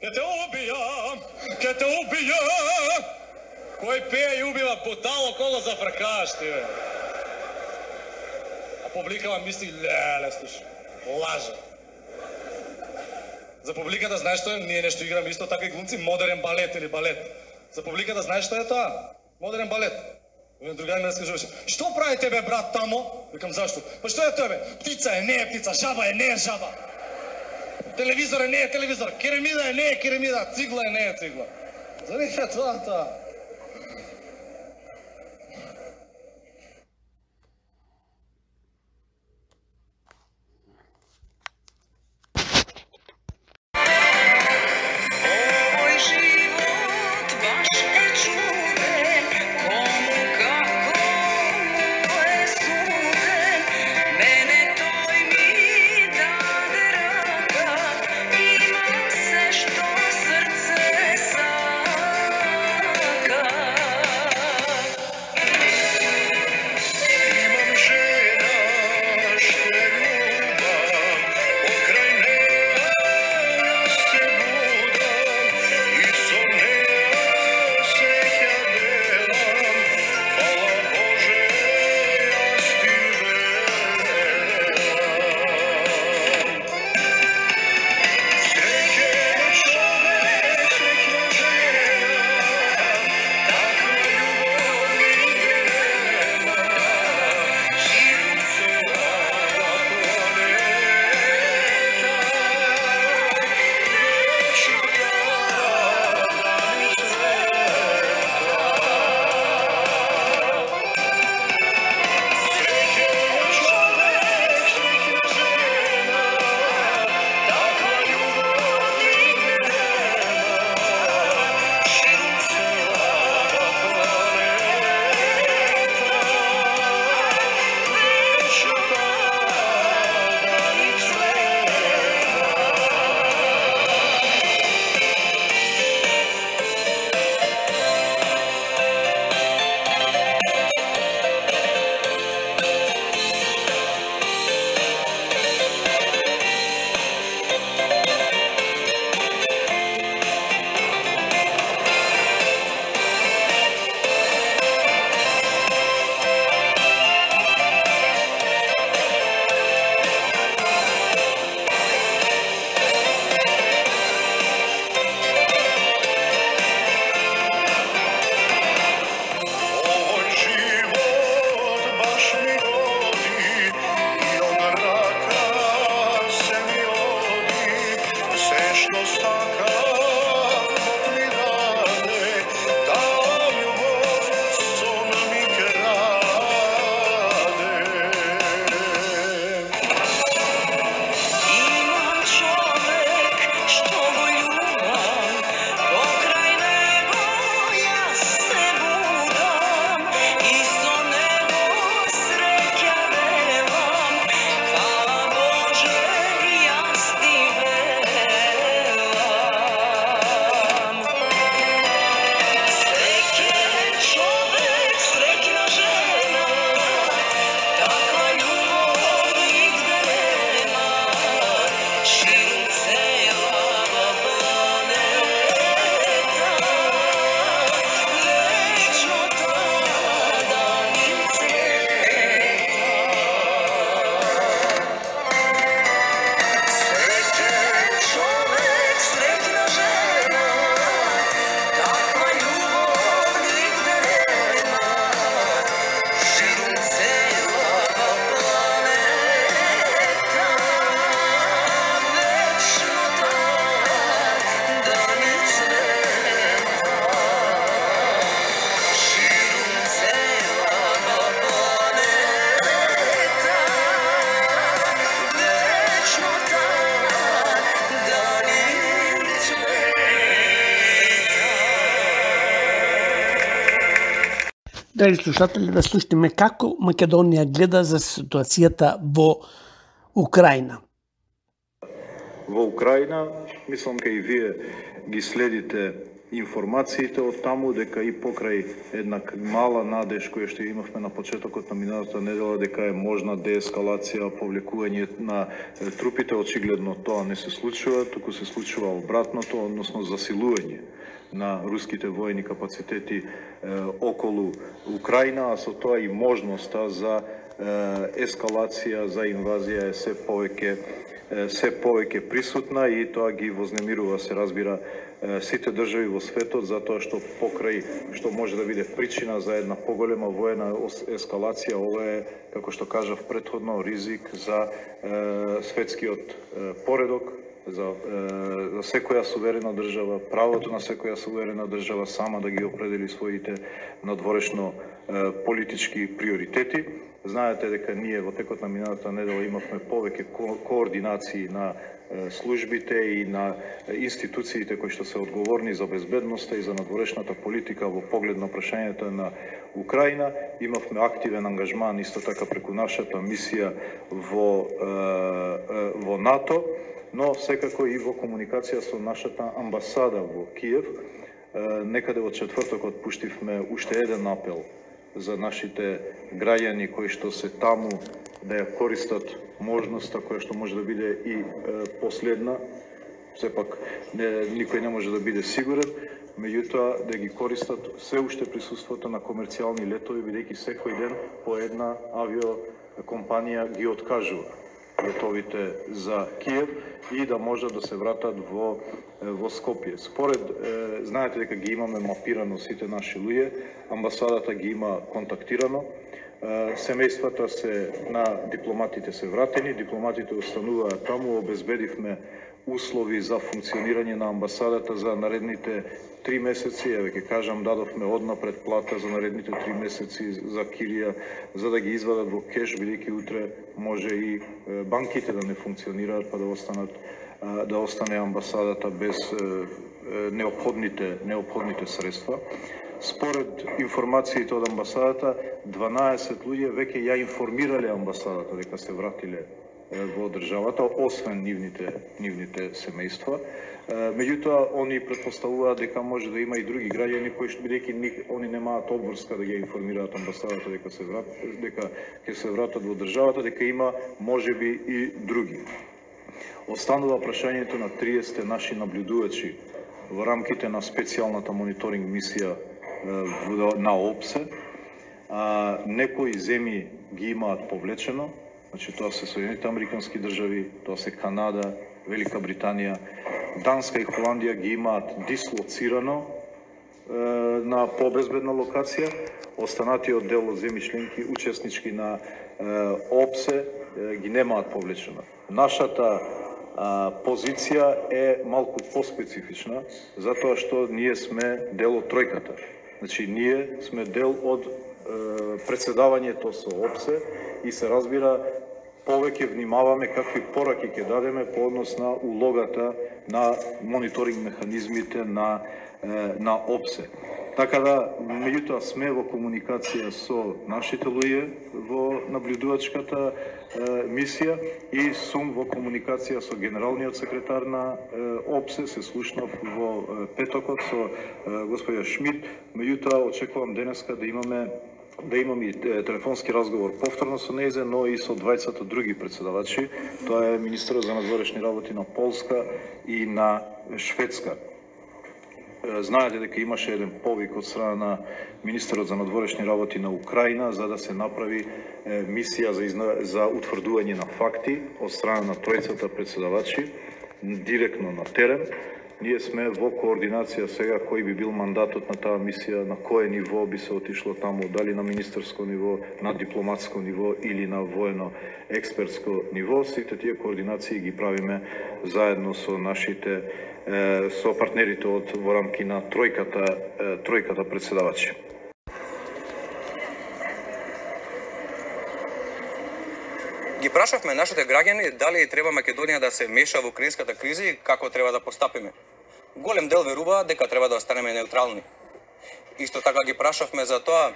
Ке те убијам, ке те убијам! Кој пее и убива бутало, кого зафркаш ти, бе? А публикава мисли, леле, слушай, лажа. За публиката знаеш што е? Ние нешто играме исто така и глумци, модерен балет или балет. За публиката знаеш што е тоа? Модерен балет. Еден другај ми раскажуваше, што прави тебе брат тамо? Викам, зашто? Па што е тебе? Птица е, не е птица, жаба е, не е жаба. Телевизор е, не е телевизор, керамида е, не е керамида, цигла е, не е цигла. За не е тоа, тоа. Имам се што срце са Драги слушатели, да слушнеме како Македонија гледа за ситуацијата во Украина. Во Украина, мислам кај и вие ги следите информациите од таму, дека и покрај една мала надеж која што имавме на почетокот на минатата недела, дека е можна деескалација, повлекување на трупите, очигледно тоа не се случува, туку се случува обратното, односно засилување на руските воени капацитети е, околу Украина, а со тоа и можноста за е, ескалација, за инвазија е се повеќе се повеќе присутна и тоа ги вознемирува, се разбира, сите држави во светот, затоа што покрај што може да биде причина за една поголема воена ескалација, ова е, како што кажав претходно, ризик за е, светскиот е, поредок, за, е, за секоја суверена држава, правото на секоја суверена држава сама да ги определи своите надворешно е, политички приоритети. Знаете дека ние во текот на минатата недела имавме повеќе ко координации на службите и на институциите кои што се одговорни за безбедноста и за надворешната политика во поглед на прашањето на Украина. Имавме активен ангажман исто така преку нашата мисија во, во НАТО, но секако и во комуникација со нашата амбасада во Киев. Некаде во четвртокот пуштивме уште еден апел за нашите граѓани кои што се таму да ја користат можноста која што може да биде и е, последна. Сепак не, никој не може да биде сигурен, меѓутоа да ги користат се уште присуството на комерцијални летови, бидејќи секој ден по една авиокомпанија ги откажува летовите за Киев и да можат да се вратат во во Скопје. Според, е, знаете дека ги имаме мапирано сите наши луѓе, амбасадата ги има контактирано, е, семејствата се на дипломатите се вратени, дипломатите остануваат таму, обезбедивме услови за функционирање на амбасадата за наредните три месеци, еве ќе кажам, дадовме однапред плата за наредните три месеци за кирија, за да ги извадат во кеш, бидејќи утре може и банките да не функционираат, па да останат да остане амбасадата без неопходните неопходните средства. Според информациите од амбасадата, дванаесет луѓе веќе ја информирале амбасадата дека се вратиле во државата, освен нивните нивните семејства. Меѓутоа, они претпоставуваат дека може да има и други граѓани кои што бидејќи они немаат обврска да ја информираат амбасадата дека се врат, дека ќе се вратат во државата, дека има можеби и други. Останува прашањето на триесет наши наблюдувачи во рамките на специјалната мониторинг мисија на ОПСЕ. Некои земји ги имаат повлечено, значи тоа се Соединените американски држави, тоа се Канада, Велика Британија, Данска и Холандија ги имаат дислоцирано е, на побезбедна локација. Останатиот дел од земји членки учеснички на е, ОПСЕ е, ги немаат повлечено. Нашата а, позиција е малку поспецифична, затоа што ние сме дел од тројката. Значи, ние сме дел од е, председавањето со ОПСЕ и се разбира повеќе внимаваме какви пораки ќе дадеме по однос на улогата на мониторинг механизмите на, е, на ОПСЕ. Така да, меѓутоа сме во комуникација со нашите луѓе во наблюдувачката е, мисија и сум во комуникација со генералниот секретар на е, ОПСЕ, се слушнав во е, петокот со е, господја Шмидт, меѓутоа очекувам денеска да имаме да имам и телефонски разговор повторно со нејзе, но и со двајцата други председавачи. Тоа е министерот за надворешни работи на Полска и на Шведска. Знаете дека имаше еден повик од страна на министерот за надворешни работи на Украина за да се направи е, мисија за, изна... за утврдување на факти од страна на тројцата председавачи директно на терен. Ние сме во координација сега кој би бил мандатот на таа мисија, на кое ниво би се отишло таму, дали на министерско ниво, на дипломатско ниво или на воено-експертско ниво. Сите тие координации ги правиме заедно со нашите со партнерите од во рамки на тројката тројката председавачи. Ги прашавме нашите граѓани дали треба Македонија да се меша во украинската криза и како треба да постапиме. Голем дел веруваат дека треба да останеме неутрални. Исто така ги прашавме за тоа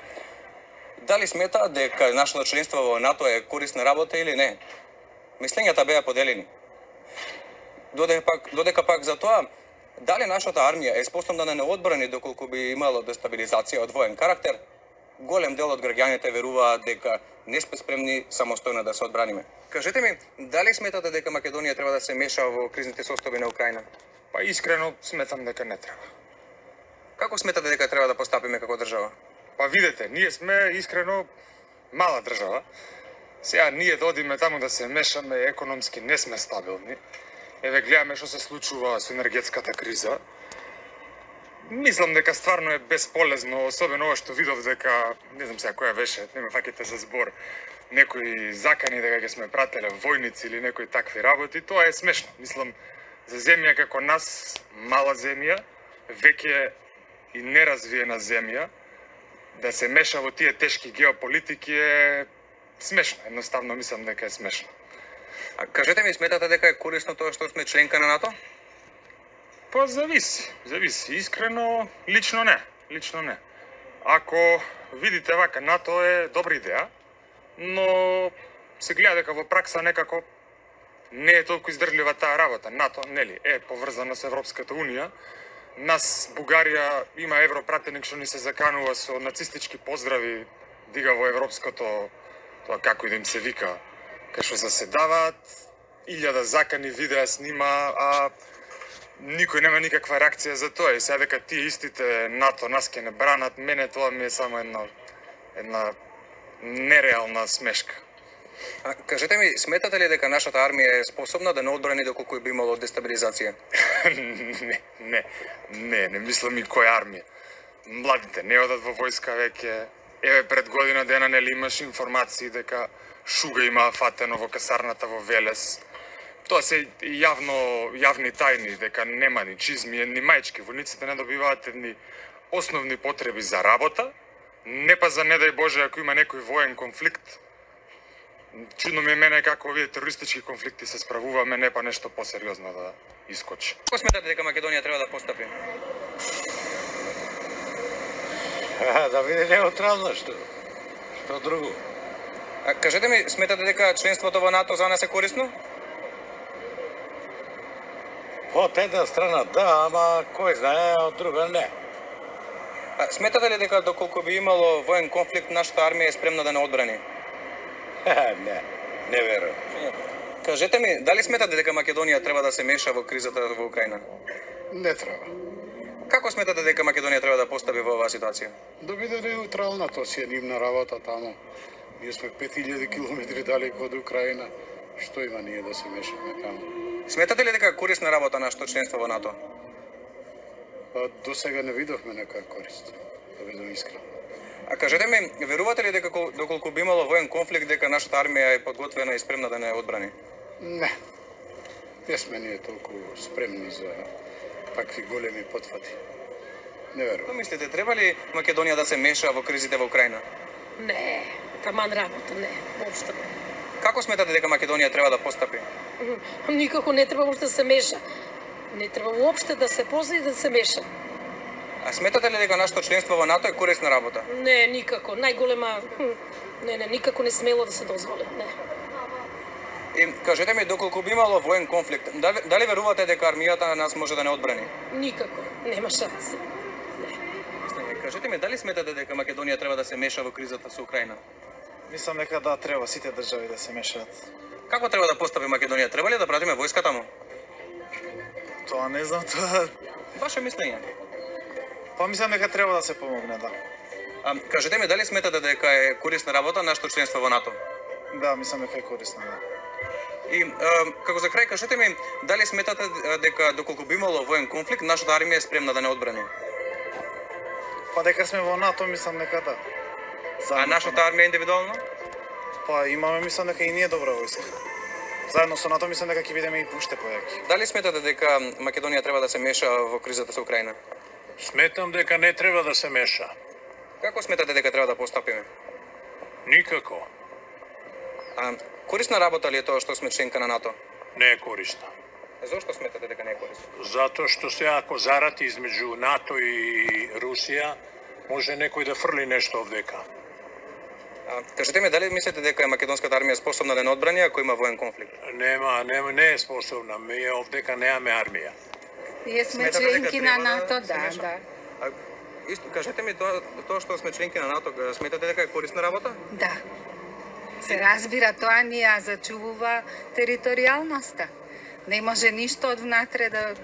дали смета дека нашето членство во НАТО е корисна работа или не? Мислењата беа поделени. Додека пак, додека пак за тоа, дали нашата армија е способна да не одбрани доколку би имало дестабилизација од воен карактер, голем дел од граѓаните веруваат дека не сме спремни самостојно да се одбраниме. Кажете ми, дали сметате дека Македонија треба да се меша во кризните состојби на Украина? Па искрено сметам дека не треба. Како сметате дека треба да постапиме како држава? Па видете, ние сме искрено мала држава. Сега ние да одиме таму да се мешаме, економски не сме стабилни. Еве гледаме што се случува со енергетската криза. Мислам дека стварно е бесполезно, особено ова што видов дека, не знам сега која беше, не ме фаќате за збор, некои закани дека ќе сме прателе војници или некои такви работи, тоа е смешно. Мислам, за земја како нас, мала земја, веќе и неразвиена земја, да се меша во тие тешки геополитики е смешно. Едноставно мислам дека е смешно. А кажете ми, сметате дека е корисно тоа што сме членка на НАТО? Па зависи, зависи. Искрено, лично не. Лично не. Ако видите вака, НАТО е добра идеја, но се гледа дека во пракса некако не е толку издржлива таа работа. НАТО, нели, е поврзана со Европската Унија. Нас, Бугарија, има европратеник што ни се заканува со нацистички поздрави, дига во европското, тоа како и да им се вика, кај што заседаваат, илјада закани видеа снима, а никој нема никаква реакција за тоа. И сега дека тие истите НАТО нас ќе не бранат, мене тоа ми е само една, една нереална смешка. А, кажете ми, сметате ли дека нашата армија е способна да не одбрани доколку би имало дестабилизација? не, не, не, не мислам и која армија. Младите не одат во војска веќе. Еве пред година дена нели имаш информации дека Шуга има фатено во касарната во Велес. Тоа се јавно, јавни тајни, дека нема ни чизми, ни мајчки. Војниците не добиваат едни основни потреби за работа, не па за не дај Боже ако има некој воен конфликт. Чудно ми е мене како овие терористички конфликти се справуваме, не па нешто посериозно да искочи. Како сметате дека Македонија треба да постапи? А, да биде неутрална, што? Што друго? А, кажете ми, сметате дека членството во НАТО за нас е корисно? Од една страна да, ама кој знае, од друга не. А, сметате ли дека доколку би имало воен конфликт, нашата армија е спремна да не одбрани? не, не верувам. Кажете ми, дали сметате дека Македонија треба да се меша во кризата во Украина? Не треба. Како сметате дека Македонија треба да постапи во оваа ситуација? Да биде неутрална, тоа си е нивна работа таму. Ние сме пет илјади километри далеко од Украина. Што има ние да се мешаме таму? Сметате ли дека е корисна работа нашето членство во НАТО? Па до сега не видовме нека корист, да бидам искрен. А кажете ми, верувате ли дека доколку би имало воен конфликт дека нашата армија е подготвена и спремна да не одбрани? Не. Не сме ние толку спремни за такви големи потфати. Не верувам. Мислите, треба ли Македонија да се меша во кризите во Украина? Не, таман работа, не, воопшто не. Како сметате дека Македонија треба да постапи? Никако не треба уште да се меша. Не треба уопште да се позна и да се меша. А сметате ли дека нашето членство во НАТО е корисна работа? Не, никако. Најголема... Не, не, никако не смело да се дозволи, не. И кажете ми, доколку би имало воен конфликт, дали, дали верувате дека армијата на нас може да не одбрани? Никако, нема шанси. Не. Кажете ми, дали сметате дека Македонија треба да се меша во кризата со Украина? Мислам дека да, треба сите држави да се мешаат. Како треба да постапи Македонија? Треба ли да пратиме војска таму? Тоа не знам, тоа... Ваше мислење? Па мислам дека треба да се помогне, да. А, кажете ми, дали сметате дека е корисна работа нашето членство во НАТО? Да, мислам дека е корисно, да. И а, како за крај, кажете ми, дали сметате дека доколку би имало воен конфликт, нашата армија е спремна да не одбрани? Па дека сме во НАТО, мислам дека да. Заедно а нашата армија индивидуално? Па имаме, мислам дека и ние добра војска. Заедно со НАТО мислам дека ќе бидеме и уште појаки. Дали сметате дека Македонија треба да се меша во кризата со Украина? Сметам дека не треба да се меша. Како сметате дека треба да постапиме? Никако. А корисна работа ли е тоа што сме членка на НАТО? Не е корисна. Зошто сметате дека не е корисно? Затоа што се ако зарати измеѓу НАТО и Русија, може некој да фрли нешто овдека. А, кажете ми, дали мислите дека е македонската армија способна да не одбрани ако има воен конфликт? Нема, нема, не е способна. Ние овдека немаме армија. Ние сме членки на НАТО, да, да. А, исто, кажете ми, тоа, тоа што сме членки на НАТО, сметате дека е корисна работа? Да. Се разбира, тоа ни ја зачувува територијалноста. Не може ништо од внатре да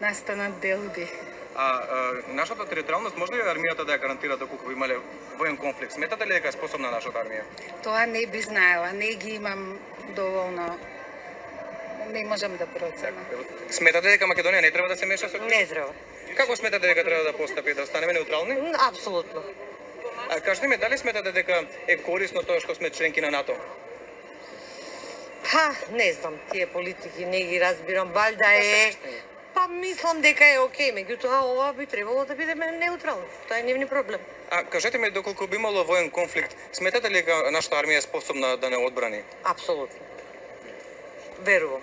настанат делби. А, а нашата територијалност може ли армијата да ја гарантира доколку имале воен конфликт? Сметате ли дека е способна нашата армија? Тоа не би знаела, не ги имам доволно. Не можам да проценам. Сметате дека Македонија не треба да се меша со? Не треба. Како сметате дека треба да постапи, да останеме неутрални? Апсолутно. А кажете ми, дали сметате дека е корисно тоа што сме членки на НАТО? Па, не знам, тие политики не ги разбирам, валјда е. Па мислам дека е окей, меѓутоа ова би требало да бидеме неутрални. Тоа е нивни проблем. А кажете ми, доколку би имало воен конфликт, сметате ли дека нашата армија е способна да не одбрани? Апсолутно. Верувам.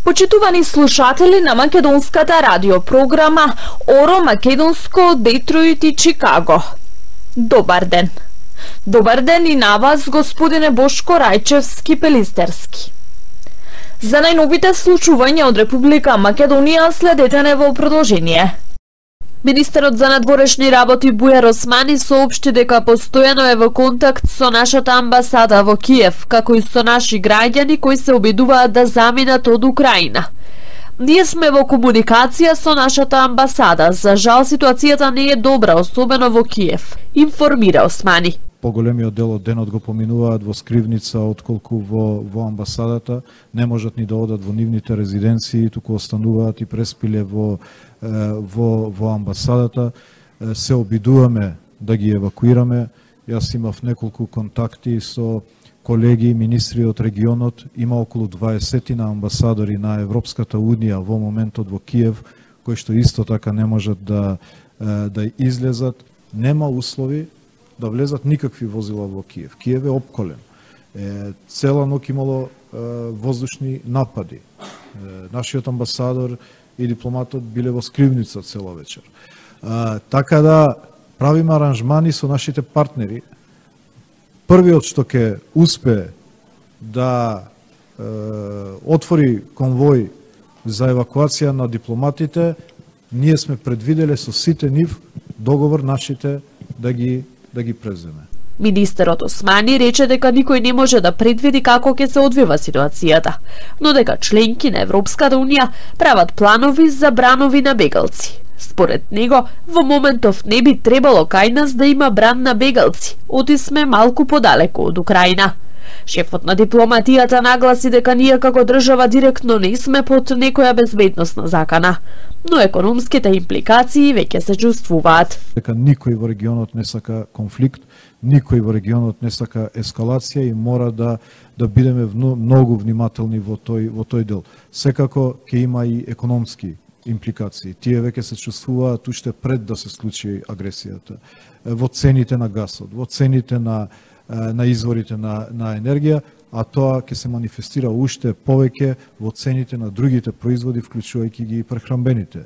Почитувани слушатели на македонската радиопрограма Оро Македонско од Детройт и Чикаго. Добар ден. Добар ден и на вас, господине Бошко Рајчевски-Пелистерски. За најновите случувања од Република Македонија следете не во продолжение. Министерот за надворешни работи Бујар Османи соопшти дека постојано е во контакт со нашата амбасада во Киев, како и со наши граѓани кои се обидуваат да заминат од Украина. Ние сме во комуникација со нашата амбасада. За жал ситуацијата не е добра, особено во Киев, информира Османи. Поголемиот дел од денот го поминуваат во скривница, отколку во, во амбасадата. Не можат ни да одат во нивните резиденции, туку остануваат и преспиле во, во, во амбасадата. Се обидуваме да ги евакуираме. Јас имав неколку контакти со колеги, министри од регионот. Има околу дваесет амбасадори на Европската Унија во моментот во Киев, кои што исто така не можат да, да излезат. Нема услови да влезат никакви возила во Киев. Киев е опколен. Е, цела ноќ имало е, воздушни напади. Е, нашиот амбасадор и дипломатот биле во скривница цела вечер. Е, така да правиме аранжмани со нашите партнери. Првиот што ќе успе да е, отвори конвој за евакуација на дипломатите, ние сме предвиделе со сите нив договор нашите да ги да ги преземе. Министерот Османи рече дека никој не може да предвиди како ќе се одвива ситуацијата, но дека членки на Европската Унија прават планови за бранови на бегалци. Според него, во моментов не би требало кај нас да има бран на бегалци, оти сме малку подалеку од Украина. Шефот на дипломатијата нагласи дека ние како држава директно не сме под некоја безбедносна закана, но економските импликации веќе се чувствуваат. Дека никој во регионот не сака конфликт, никој во регионот не сака ескалација и мора да да бидеме многу внимателни во тој во тој дел. Секако ќе има и економски импликации. Тие веќе се чувствуваат уште пред да се случи агресијата. Во цените на гасот, во цените на на изворите на, на енергија, а тоа ќе се манифестира уште повеќе во цените на другите производи, вклучувајќи ги прехранбените,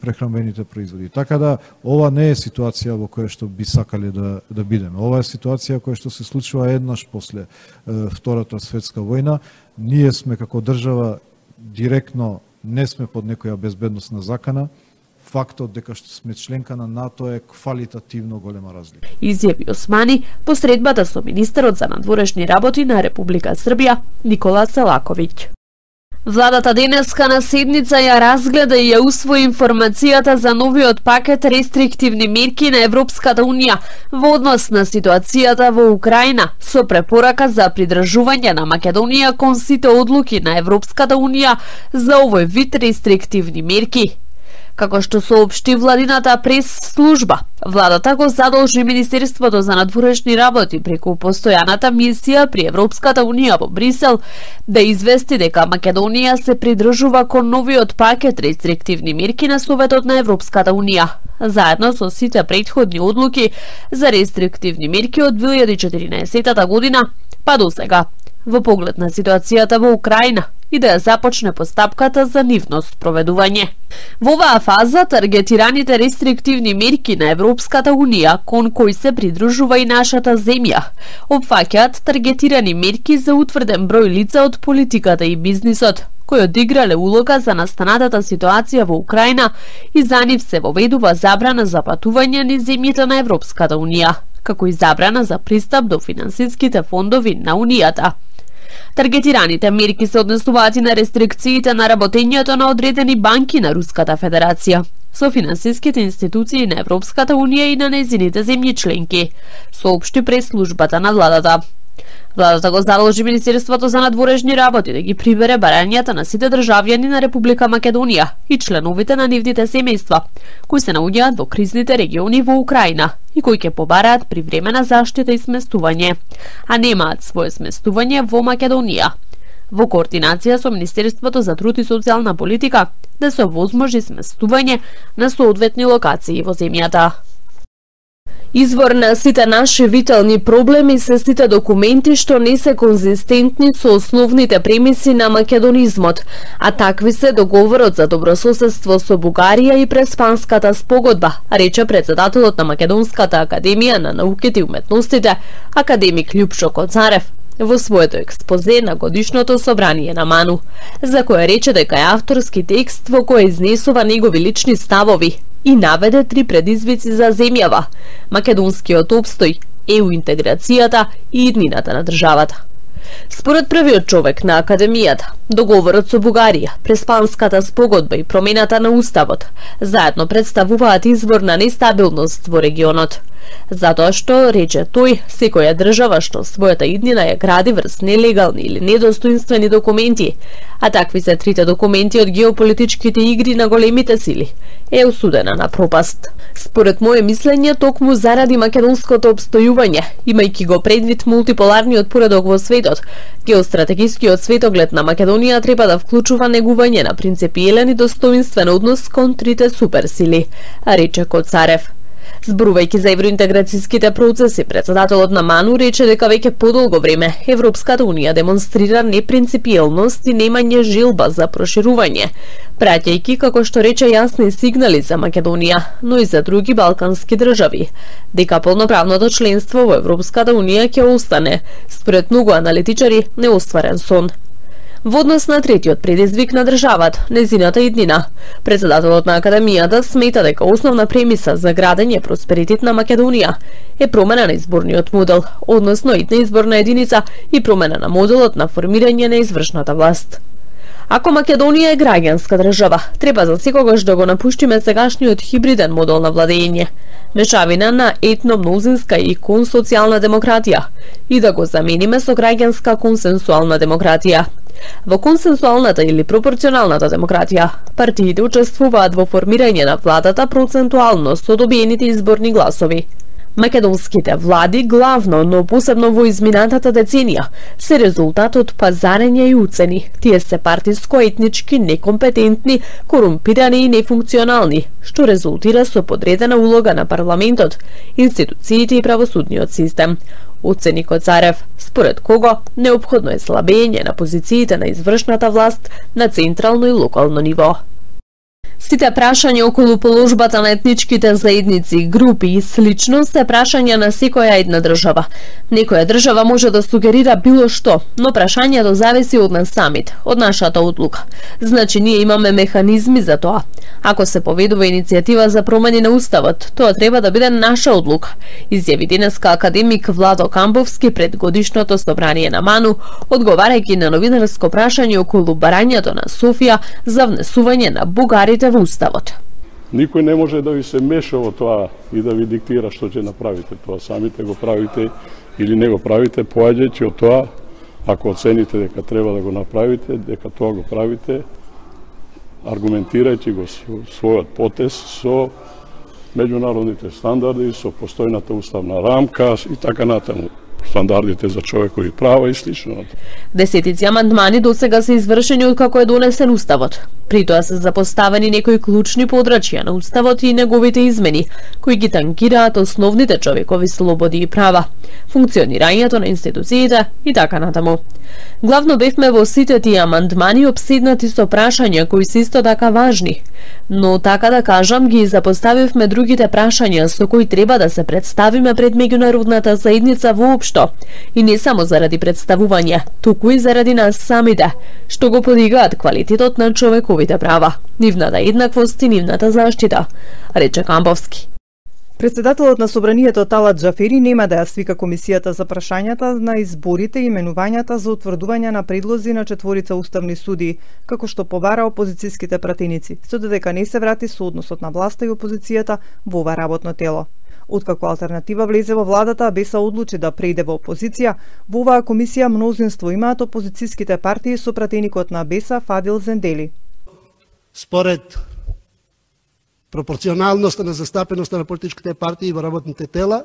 прехранбените производи. Така да, ова не е ситуација во која што би сакале да, да бидеме. Ова е ситуација која што се случува еднаш после е, Втората светска војна. Ние сме како држава директно не сме под некоја безбедносна закана. Фактот дека што сме членка на НАТО е квалитативно голема разлика. Изјави Османи по средбата со министерот за надворешни работи на Република Србија Никола Селаковиќ. Владата денеска на седница ја разгледа и ја усвои информацијата за новиот пакет рестриктивни мерки на Европската Унија во однос на ситуацијата во Украина, со препорака за придржување на Македонија кон сите одлуки на Европската Унија за овој вид рестриктивни мерки. Како што соопшти владината прес-служба, владата го задолжи Министерството за надворешни работи преку постојаната мисија при Европската Унија во Брисел да извести дека Македонија се придржува кон новиот пакет рестриктивни мерки на Советот на Европската Унија, заедно со сите претходни одлуки за рестриктивни мерки од две илјади и четиринаесетта година па до сега, во поглед на ситуацијата во Украина и да ја започне постапката за нивно спроведување. Во оваа фаза, таргетираните рестриктивни мерки на Европската Унија, кон кои се придружува и нашата земја, опфаќаат таргетирани мерки за утврден број лица од политиката и бизнисот, кои одиграле улога за настанатата ситуација во Украина и за нив се воведува забрана за патување низ земјите на Европската Унија, како и забрана за пристап до финансиските фондови на Унијата. Таргетираните мерки се однесуваат и на рестрикциите на работењето на одредени банки на Руската Федерација, со финансиските институции на Европската Унија и на нејзините земји членки, соопшти прес-службата на владата. Владата го задолжи Министерството за надворешни работи да ги прибере барањата на сите државјани на Република Македонија и членовите на нивните семејства, кои се наоѓаат во кризните региони во Украина и кои ќе побараат привремена заштита и сместување, а немаат свое сместување во Македонија, во координација со Министерството за труд и социјална политика да се овозможи сместување на соодветни локации во земјата. Извор на сите наши витални проблеми се сите документи што не се конзистентни со основните премиси на македонизмот, а такви се договорот за добрососедство со Бугарија и Преспанската спогодба, рече председателот на Македонската академија на науките и уметностите, академик Љупшо Коцарев, во своето експозе на годишното собрание на МАНУ, за кое рече дека е авторски текст во кој изнесува негови лични ставови и наведе три предизвици за земјава: македонскиот опстој, ЕУ интеграцијата и иднината на државата. Според првиот човек на академијата, договорот со Бугарија, Преспанската спогодба и промената на уставот заедно представуваат извор на нестабилност во регионот. Затоа што, рече тој, секоја држава што својата иднина ја гради врз нелегални или недостоинствени документи, а такви се трите документи од геополитичките игри на големите сили, е осудена на пропаст. Според моје мислење, токму заради македонското обстојување, имајќи го предвид мултиполарниот поредок во светот, геостратегискиот светоглед на Македонија треба да вклучува негување на принципиелен и достоинствен однос кон трите суперсили, рече Коцарев. Зборувајќи за евроинтеграцијските процеси, председателот на МАНУ рече дека веќе подолго време Европската унија демонстрира непринципиелност и немање желба за проширување, праќајќи, како што рече, јасни сигнали за Македонија, но и за други балкански држави, дека полноправното членство во Европската унија ќе остане, според многу аналитичари, неостварен сон. Во однос на третиот предизвик на државата, незината иднина, председателот на академијата смета дека основна премиса за градење просперитет на Македонија е промена на изборниот модел, односно идна изборна единица и промена на моделот на формирање на извршната власт. Ако Македонија е граѓанска држава, треба за секогаш да го напуштиме сегашниот хибриден модел на владење, мешавина на етно-мнозинска и консоцијална демократија, и да го замениме со граѓанска консенсуална демократија. Во консенсуалната или пропорционалната демократија, партиите учествуваат во формирање на владата процентуално со добиените изборни гласови. Македонските влади, главно, но посебно во изминатата деценија, се резултат од пазарење и уцени. Тие се партиско-етнички, некомпетентни, корумпирани и нефункционални, што резултира со подредена улога на парламентот, институциите и правосудниот систем. Оцени Коцарев, според кого неопходно е слабење на позициите на извршната власт на централно и локално ниво. Сите прашања околу положбата на етничките заедници, групи и слично се прашања на секоја една држава. Некоја држава може да сугерира било што, но прашањето зависи од нас самите, од нашата одлука. Значи ние имаме механизми за тоа. Ако се поведува иницијатива за промени на уставот, тоа треба да биде наша одлука, изјави денеска академик Владо Камбовски пред годишното собрание на МАНУ, одговарајќи на новинарско прашање околу барањето на Софија за внесување на бугарите во уставот. Никој не може да ви се меша во тоа и да ви диктира што ќе направите. Тоа самите го правите или не го правите, поаѓајќи од тоа, ако оцените дека треба да го направите, дека тоа го правите, аргументирајќи го својот потез со меѓународните стандарди, со постојната уставна рамка и така натаму. Стандардите за човекови права и слично. Десетици амандмани досега се извршени откако е донесен уставот. При тоа се запоставени некои клучни подрачја на уставот и неговите измени, кои ги танкираат основните човекови слободи и права, функционирањето на институциите и така натаму. Главно бевме во сите тие амандмани обседнати со прашања кои се исто така важни, но така да кажам ги запоставивме другите прашања со кои треба да се представиме пред меѓународната заедница воопшто, и не само заради представување, туку и заради нас самите, што го подигаат квалитетот на човековите права, нивната еднаквост и нивната заштита, рече Камбовски. Председателот на собранието Талат Џафери нема да ја свика комисијата за прашањата на изборите и именувањата за утврдување на предлози на четворица уставни судии, како што побара опозицијските пратеници, со додека не се врати со односот на власта и опозицијата во ова работно тело. Откако алтернатива влезе во владата, Беса одлучи да преиде во опозиција, во оваа комисија мнозинство имаат опозицијските партии со пратеникот на Беса Фадил Зендели. Според пропорционалноста на застапеноста на политичките партии во работните тела,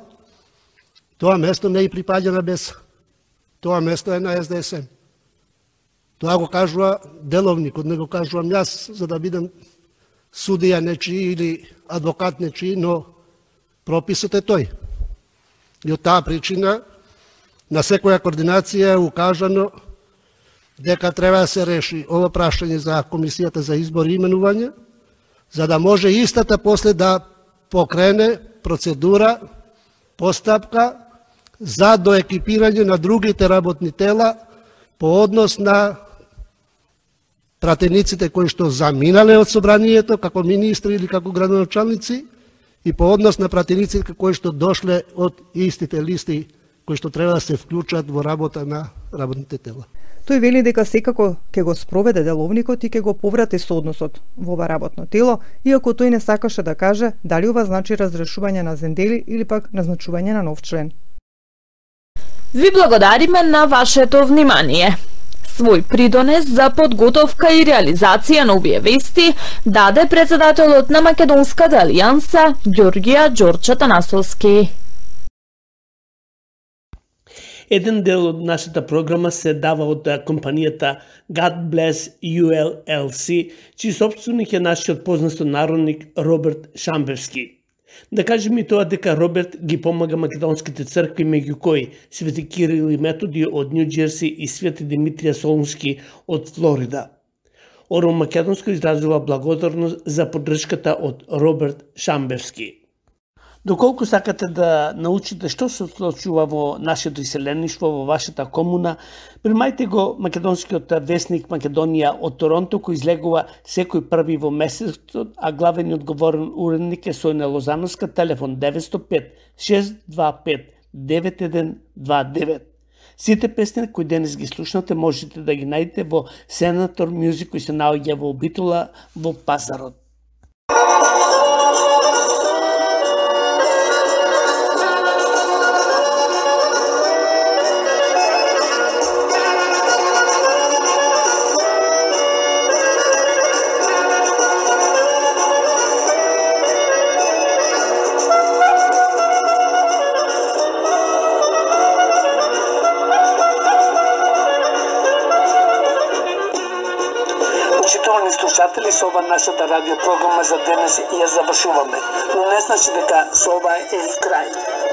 тоа место не и припаѓа на Беса. Тоа место е на Ес Де Ес Ем. Тоа го кажува деловникот, не го кажувам јас, за да бидам судија нечи или адвокат нечи, но прописот е тој. И од таа причина на секоја координација е укажано дека треба да се реши ова прашање за Комисијата за избор и именување, за да може истата после да покрене процедура, постапка за доекипирање на другите работни тела по однос на пратениците кои што заминале од собранието како министри или како градоначалници и по однос на пратениците кои што дошле од истите листи кои што треба да се вклучат во работа на работните тела. Тој вели дека секако ќе го спроведе деловникот и ќе го поврати соодносот во ова работно тело, иако тој не сакаше да каже дали ова значи разрешување на Зендели или пак назначување на нов член. Ви благодариме на вашето внимание. Свој придонес за подготовка и реализација на овие вести даде председателот на Македонската алијанса Ѓорѓија Ѓорче Танасовски. Еден дел од нашата програма се дава од компанијата God Bless ю ел ел си, чиј собственик е нашиот познат народник Роберт Шамбевски. Да кажем и тоа дека Роберт ги помага македонските цркви, меѓу кои Свети Кирил и Методи од Нью Џерси и Свети Димитрија Солунски од Флорида. Оро Македонско изразува благодарност за поддршката од Роберт Шамбевски. Доколку сакате да научите што се случува во нашето иселеништво, во вашата комуна, примајте го македонскиот весник Македонија од Торонто, кој излегува секој први во месецот, а главен и одговорен уредник е Сојна Лозановска, телефон деветстотини и пет шест два пет девет еден два девет. Сите песни кои денес ги слушнате можете да ги најдете во Senator Music, кој се наоѓа во Битола во Пазарот. Слушатели, со ова нашата радиопрограма за денес ја завршуваме, но не значи дека со ова е и крај.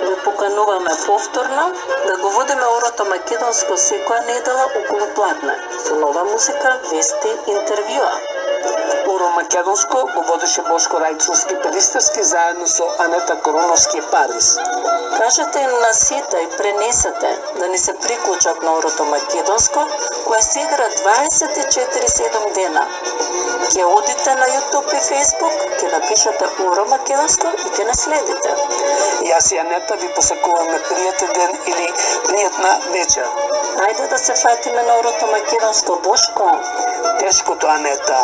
Ви покануваме повторно да го водиме Орото Македонско секоја недела околу пладне, со нова музика, вести, интервјуа. Оро Македонско го водеше Бошко Рајчовски Пелистерски заедно со Анета Короновски Парис. Кажете им на сите и пренесете да ни се приклучат на Орото Македонско, која се игра дваесет и четири седум дена. Ке одите на YouTube и Facebook, ке напишете Оро Македонско и ке наследите. Јас и Анета ви посакуваме пријатен ден или пријатна вечер. Ајде да се фатиме на Орото Македонско, Бошко. Тешкото, Анета.